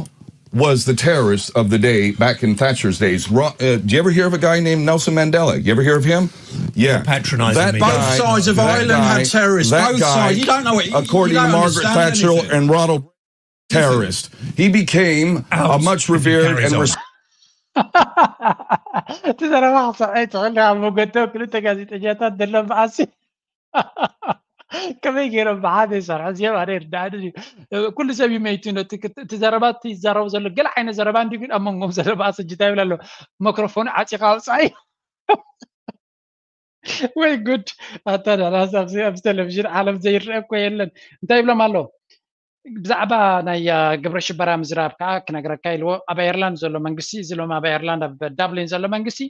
was the terrorist of the day back in Thatcher's days. Ro- uh, do you ever hear of a guy named Nelson Mandela? You ever hear of him? Yeah. Patronizing that me. Guy, both sides of Ireland guy, had terrorists. Both guy, sides. You don't know it. According to Margaret Thatcher and Ronald, terrorist. He became Ouch. A much revered and res- እቲ ዘረባ ክሰምዐ ይትኽእል ኣብ መገዶ ክልተ ጋዜጠኛታት ዘሎ መዓሲ ከመይ ገይሮም ብሓደ ይሰርሑ እዚኦም ኣነ ይርዳእኒ እዩ። ኩሉ ሰብ ይመይቱ ነቲ ክት- እቲ ዘረባ እቲ ይዛረቡ ዘሎ ገለ ዓይነት ዘረባ እንዲ ግን ኣብ መንጎም ዘሎ መዓሲ እንታይ ይብል ኣሎ መክሮፎኑ ዓፂኻ ኣውፃኢ ወይ ጉድ ኣታ ዳላስ ኣብዚ ኣብዚ ቴሌቪዥን ዓለም ዘይረአ እኮ የለን እንታይ ይብሎም ኣሎ ብዛዕባ ናይ ግብረ ሽበራ ምዝራብ ከዓ ክነግረካ ኢልዎ ኣብ ኣየርላንድ ዘሎ መንግስቲ እዚ ሎም ኣብ ኣየርላንድ ኣብ ዳብሊን ዘሎ መንግስቲ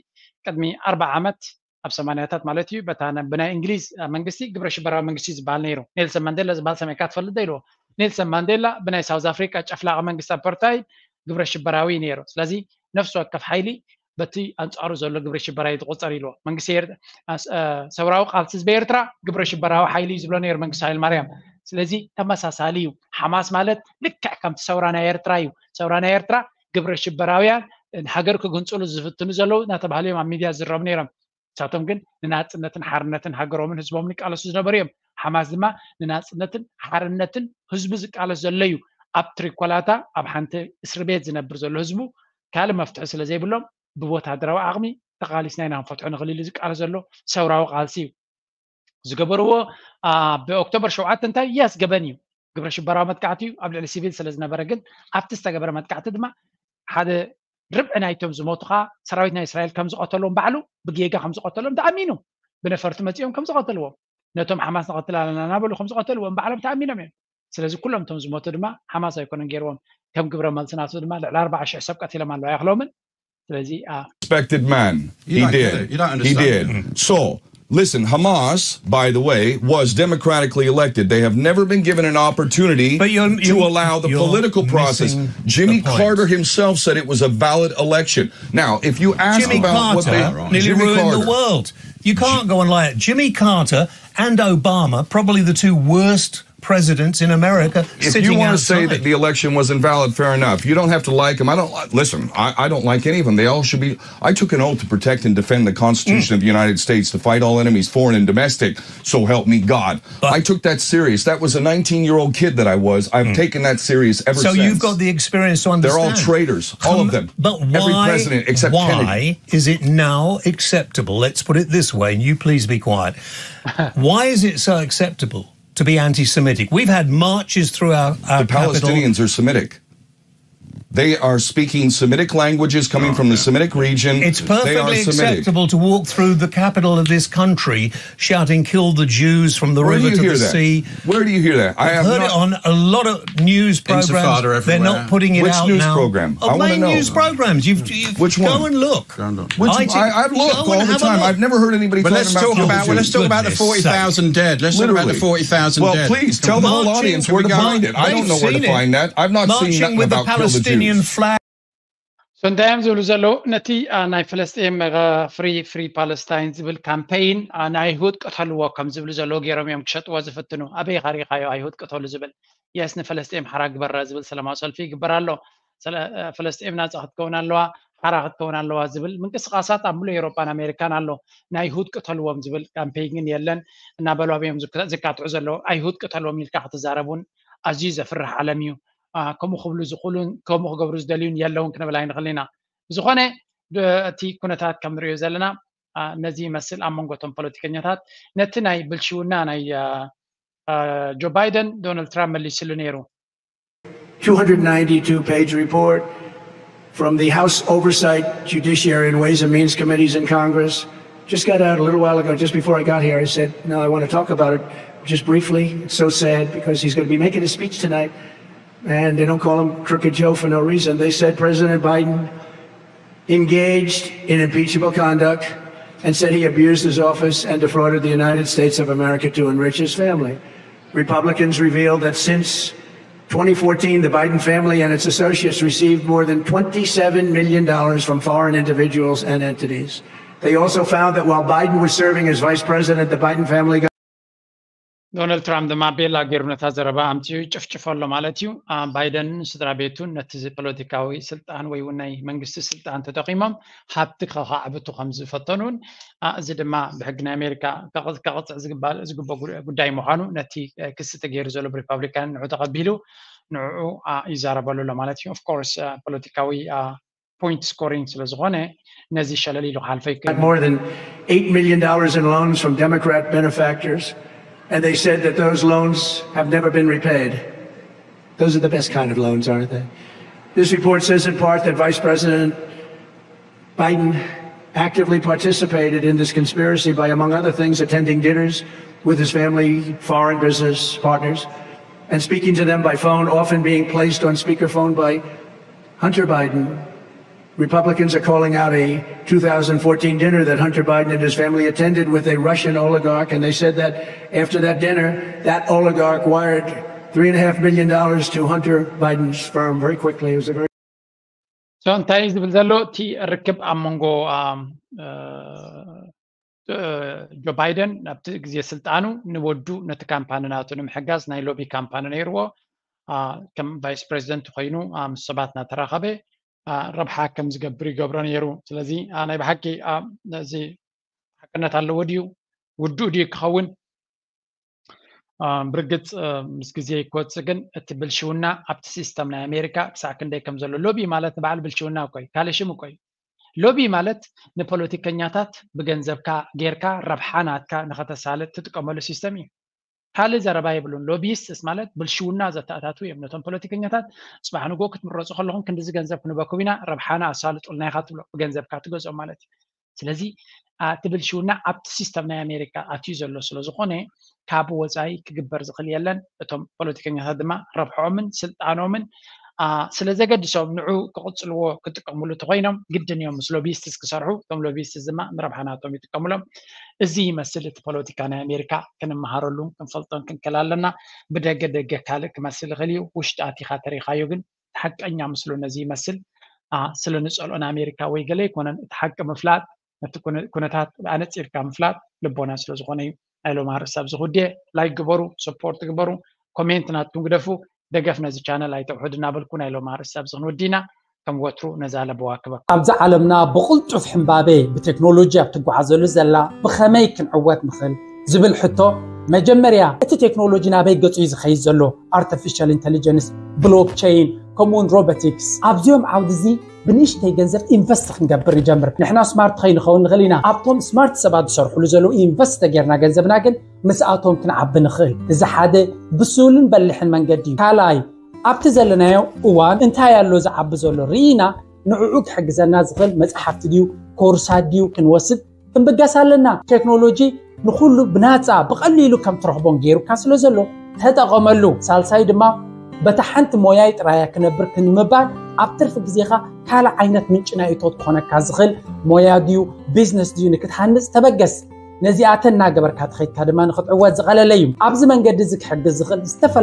ቅድሚ ኣርባ ዓመት ኣብ ሰማንያታት ማለት እዩ በታ ብናይ እንግሊዝ መንግስቲ ግብረ ሽበራዊ መንግስቲ ዝበሃል ነይሩ ኔልሰን ማንዴላ ዝበሃል ሰሚዕካ ትፈልጥ ዶ ኢልዎ ኔልሰን ማንዴላ ብናይ ሳውዝ ኣፍሪካ ጨፍላቂ መንግስቲ ኣፓርታይድ ግብረ ሽበራዊ ነይሩ ስለዚ ነፍሲ ወከፍ ሓይሊ በቲ ኣንፃሩ ዘሎ ግብረ ሽበራዊ ዝቆፀር ኢልዎ መንግስቲ ሰውራዊ ቃልሲ ህዝቢ ኤርትራ ግብረ ሽበራዊ ሓይሊ እዩ ዝብሎ ነይሩ መንግስቲ ሃይለ ማርያም ስለዚ ተመሳሳሊ እዩ ሓማስ ማለት ልክዕ ከምቲ ሰውራ ናይ ኤርትራ እዩ ሰውራ ናይ ኤርትራ ግብረ ሽበራውያን ሃገር ክግንፅሉ ዝፍትኑ ዘለዉ እናተባህሉ እዮም ኣብ ሚድያ ዝረቡ ነይሮም ንሳቶም ግን ንናፅነትን ሓርነትን ሃገሮምን ህዝቦምን ይቃለሱ ዝነበሩ እዮም ሓማስ ድማ ንናፅነትን ሓርነትን ህዝቡ ዝቃለስ ዘሎ እዩ ኣብ ትሪኮላታ ኣብ ሓንቲ እስሪ ቤት ዝነብር ዘሎ ህዝቡ ካልእ መፍትሒ ስለ ዘይብሎም ብወታደራዊ ዓቕሚ ተቓሊስና ኢና ክንፈትሖ ንኽእል ኢሉ ዝቃለስ ዘሎ ሰውራዊ ቃልሲ እዩ ዝገበርዎ ኣብ ኦክቶበር ሸውዓተ እንታይ የስ ገበን እዩ ግብረ ሽበራዊ መጥቃዕቲ እዩ ኣብ ልዕሊ ሲቪል ስለ ዝነበረ ግን ኣብቲ ዝተገበረ መጥቃዕቲ ድማ ሓደ ርብዒ ናይቶም ዝሞቱ ከዓ ሰራዊት ናይ እስራኤል ከም ዝቐተልዎም ባዕሉ ብጌጋ ከም ዝቐተልዎም ተኣሚኑ ብነፈርቲ መፂኦም ከም ዝቐተልዎም ነቶም ሓማስ ንቐትል ኣለና እናበሉ ከም ዝቐተልዎም ባዕሎም ተኣሚኖም እዮም ስለዚ ኩሎም እቶም ዝሞቱ ድማ ሓማስ ኣይኮነን ገይርዎም ከም ግብረ መልሲ ናቱ ድማ ልዕሊ ኣርባዓ ሽሕ ሰብ ቀቲሎም ኣለዉ ኣይኽሎምን ስለዚ Respected man. He did. He did. So, listen, Hamas, by the way, was democratically elected. They have never been given an opportunity to allow the political process. Jimmy Carter himself said it was a valid election. Now, if you ask Jimmy about Carter, what they... Nearly Jimmy ruined Carter. The world. You can't go and lie. Jimmy Carter and Obama, probably the two worst presidents in America. If you want to say that the election was invalid, fair enough. You don't have to like them. I don't listen. I, I don't like any of them. They all should be. I took an oath to protect and defend the Constitution mm. of the United States to fight all enemies, foreign and domestic. So help me God. But I took that serious. That was a nineteen-year-old kid that I was. I've mm. taken that serious ever so since. So you've got the experience to understand. They're all traitors, all of them. But why, every president except why Kennedy. Is it now acceptable? Let's put it this way, and you please be quiet. Why is it so acceptable? To be anti-Semitic. We've had marches through our, our the Palestinians capital. Are Semitic. They are speaking Semitic languages coming from the Semitic region. It's They are perfectly Semitic. acceptable to walk through the capital of this country shouting, "Kill the Jews from the Where do river you to hear the that? Sea." Where do you hear that? I have Heard it not. On a lot of news programs. Intifada They're everywhere. Not putting it Which out news now. Program? Oh, I wanna main know. News programs. You've, you've Which go one? And look. Which I, I, I've looked go all and the have a time. Look. I've never heard anybody. But Talking let's about talk kill about the well, let's Jews. talk about the Goodness forty thousand dead. Let's talk about the Literally. forty thousand Well, dead. Please tell the whole audience where to find it. I don't know where to find that. I've not seen nothing about kill the Jews. Flag. So እንታይ እዮም ዝብሉ ዘለዉ? ነቲ ናይ ፈለስጢን ፍሪ ፍሪ ፓለስታይን ዝብል ካምፔይን፣ ንኣይሁድ ቅተልዎ ከም ዝብሉ ዘለዉ ገይሮም እዮም ክሸጥዎ ዝፍትኑ። ኣበይ ካሪኻዮ ኣይሁድ ቅተሉ ዝብል? የስ፣ ንፈለስጢን ሓራ ግበራ ዝብል ሰላማዊ ሰልፊ ይግበር ኣሎ። ፈለስጢን ናፃ ክትከውን ኣለዋ፣ ሓራ ክትከውን ኣለዋ ዝብል ምንቅስቃሳት ኣብ ሙሉእ ኤሮፓን ኣሜሪካን ኣሎ። ንኣይሁድ ቅተልዎም ዝብል ካምፔይን ግን የለን። እናበሉ እዮም ዝካትዑ ዘለዉ። ኣይሁድ ቅተልዎም ኢልካ ክትዛረብ እውን ኣዝዩ ዘፍርሕ ዓለም እዩ። ከምኡ ክብሉ ዝኽእሉን ከምኡ ክገብሩ ዝደልዩን የለውን ክንብል ኣይንኽእል ኢና። ብዝኾነ እቲ ኩነታት ከም ንሪኦ ዘለና ነዚ ይመስል ኣብ መንጎ እቶም ፖለቲከኛታት። ነቲ ናይ ብልሽውና ናይ ጆ ባይደን ዶናልድ ትራምፕ መሊስሉ ነይሩ። two hundred ninety-two page report from the House Oversight, Judiciary, and Ways and Means Committees in Congress. Just got out a little while ago, just before I got here. I said, "No, I want to talk about it just briefly. It's so sad because he's going to be making a speech tonight." And they don't call him Crooked Joe for no reason. They said President Biden engaged in impeachable conduct and said he abused his office and defrauded the United States of America to enrich his family. Republicans revealed that since twenty fourteen, the Biden family and its associates received more than twenty-seven million dollars from foreign individuals and entities. They also found that while Biden was serving as vice president, the Biden family got ዶናልድ ትራምፕ ድማ ቤላ ገይሩ ነታ ዘረባ ኣምፅኡ ጭፍጭፎ ኣሎ ማለት እዩ። ባይደንን ስድራ ቤቱን ነቲ ፖለቲካዊ ስልጣን ወይ እውን ናይ መንግስቲ ስልጣን ተጠቂሞም ሃብቲ ከካዕብቱ ከም ዝፈተኑን፣ እዚ ድማ ብሕጊ ናይ ኣሜሪካ ከቕፅዕ ዝግባእ ጉዳይ ምዃኑ ነቲ ክሲ ተገይሩ ዘሎ ብሪፓብሊካን ንዑ ተቐቢሉ ንዕኡ ይዛረበሉ ኣሎ ማለት እዩ። ኦፍኮርስ ፖለቲካዊ ፖይንት ስኮሪንግ ስለ ዝኾነ ነዚ ሸለል ኢሉ ክሓልፈ ይክእል። More than eight million dollars in loans from Democrat benefactors, and they said that those loans have never been repaid. Those are the best kind of loans, aren't they? This report says in part that Vice President Biden actively participated in this conspiracy by, among other things, attending dinners with his family, foreign business partners, and speaking to them by phone, often being placed on speakerphone by Hunter Biden. Republicans are calling out a two thousand fourteen dinner that Hunter Biden and his family attended with a Russian oligarch, and they said that after that dinner, that oligarch wired three and a half million dollars to Hunter Biden's firm very quickly. It was a very So እንታይ ዝብል ዘሎ እቲ ርክብ ኣብ መንጎ ጆ ባይደን ናብቲ ግዜ ስልጣኑ ንወዱ ነቲ ካምፓኒ ናቱ ንምሕጋዝ ናይ ሎቢ ካምፓኒ ነይርዎ። ከም ቫይስ ፕሬዚደንት ኮይኑ ምስ ሰባት እናተራኸበ ረብሓ ከም ዝገብር ይገብሮ ነይሩ። ስለዚ ናይ ብሓቂ እዚ ሓቅነት ኣለዎ ድዩ? ውዱእ ድዩ ክኸውን? ብርግፅ ምስ ግዜ ክወፅእ ግን እቲ ብልሽውና ኣብቲ ሲስተም ናይ ኣሜሪካ ክሳዕ ክንደይ ከም ዘሎ። ሎቢ ማለት ንባዕሉ ብልሽውና እኮ እዩ፣ ካልእ ሽም እኮ እዩ። ሎቢ ማለት ንፖለቲከኛታት ብገንዘብካ ጌርካ ረብሓ ናትካ ንኸተሳልጥ ትጥቀመሉ ሲስተም እዩ። ካልእ ዘረባ የብሉን። ሎቢስትስ ማለት ብልሽውና ዘተኣታትዉ እዮም። ነቶም ፖለቲከኛታት ፅባሕ ንጎ ክትምረፁ ከለኹም ክንድዚ ገንዘብ ክንበኩም ኢና፣ ረብሓና ኣሳልጡልና ኢኻ ትብሎ፣ ብገንዘብካ ትገዝኦም ማለት እዩ። ስለዚ እቲ ብልሽውና ኣብቲ ሲስተም ናይ ኣሜሪካ ኣትዩ ዘሎ ስለ ዝኾነ ካብ ወፃኢ ክግበር ዝኽእል የለን። እቶም ፖለቲከኛታት ድማ ረብሖኦምን ስልጣኖምን ስለ ዘገድሶም ንዑ ክቕፅልዎ ክጥቀምሉ እንተኮይኖም ግድን እዮም ምስ ሎቢስትስ ክሰርሑ። እቶም ሎቢስትስ ድማ ንረብሓ ናቶም ይጥቀምሎም። እዚ ይመስል እቲ ፖለቲካ ናይ ኣሜሪካ። ክንመሃረሉን ክንፈልጦን ክንክእል ኣለና። ብደገ ደገ ካልእ ክመስል ይኽእል እዩ፣ ውሽጢ ኣቲኻ ተሪኻዮ ግን ሓቀኛ ምስሉ ነዚ ይመስል። ስለ ንፀልኦ ንኣሜሪካ ወይ ገለ ኣይኮነን። እቲ ሓቂ ምፍላጥ፣ ነቲ ኩነታት ኣነፂርካ ምፍላጥ ልቦና ስለ ዝኾነ እዩ። ናይ ሎም ኣርእስቲ ኣብዚ ክውድየ። ላይክ ግበሩ፣ ሰፖርት ግበሩ፣ ኮሜንት ናትኩም ግደፉ፣ ደገፍ ነዚ ቻነል ኣይተውሕዱ እናበልኩ ናይ ሎም ኣርእስቲ ኣብዚ ክንውድእ ኢና። ከም ወትሩ ነዛ ለበዋ ክበኩም። ኣብዛ ዓለምና ብቕልጡፍ ሕምባቤ ብቴክኖሎጂ ኣብ ትጓዓዘሉ ዘላ ብኸመይ ክንዕወት ንኽእል ዝብል ሕቶ፣ መጀመርያ እቲ ቴክኖሎጂ ናበይ ገጹ እዩ ዝኸይድ ዘሎ? ኣርቲፊሻል ኢንተሊጀንስ፣ ብሎክቸይን፣ ከምኡውን ሮቦቲክስ። ኣብዚኦም ዓውዲ እዚ ብንእሽተይ ገንዘብ ኢንቨስት ክንገብር ንጀምር። ንሕና ስማርት ከይንኸውን ንኽእል ኢና። ኣብቶም ስማርት ሰባት ዝሰርሕሉ ዘለዉ ኢንቨስት ተጌርና ገንዘብና ግን ምስኣቶም ክንዓቢ ንኽእል። እዚ ሓደ ብስሉን በሊሕን መንገዲ እዩ። ካልኣይ፣ ኣብቲ ዘለናዮ እዋን እንታይ ኣሎ ዝዓቢ ዘሎ ርኢና ንዕኡ ክሕግዘና ዝኽእል መጽሓፍቲ ድዩ ኮርሳት ድዩ ክንወስድ ክንብገስ ኣለና። ቴክኖሎጂ ንኹሉ ብናጻ ብቐሊሉ ከም ትረኽቦን ገይሩካ ስለ ዘሎ ተጠቐመሉ። ሳልሳይ ድማ በታ ሓንቲ ሞያይ ጥራያ ክነብር ክንምባል ኣብ ትርፊ ግዜኻ ካልእ ዓይነት ምንጪ ናይ እቶት ክኾነካ ዝኽእል ሞያ ድዩ ቢዝነስ ድዩ ንክትሃንጽ ተበገስ። ነዚኣተን እናገበርካ ተኸይድካ ድማ ንክትዕወት ዝቐለለ እዩ። ኣብዚ መንገዲ እዚ ክሕግዝ ዝኽእል ዝተፈላለ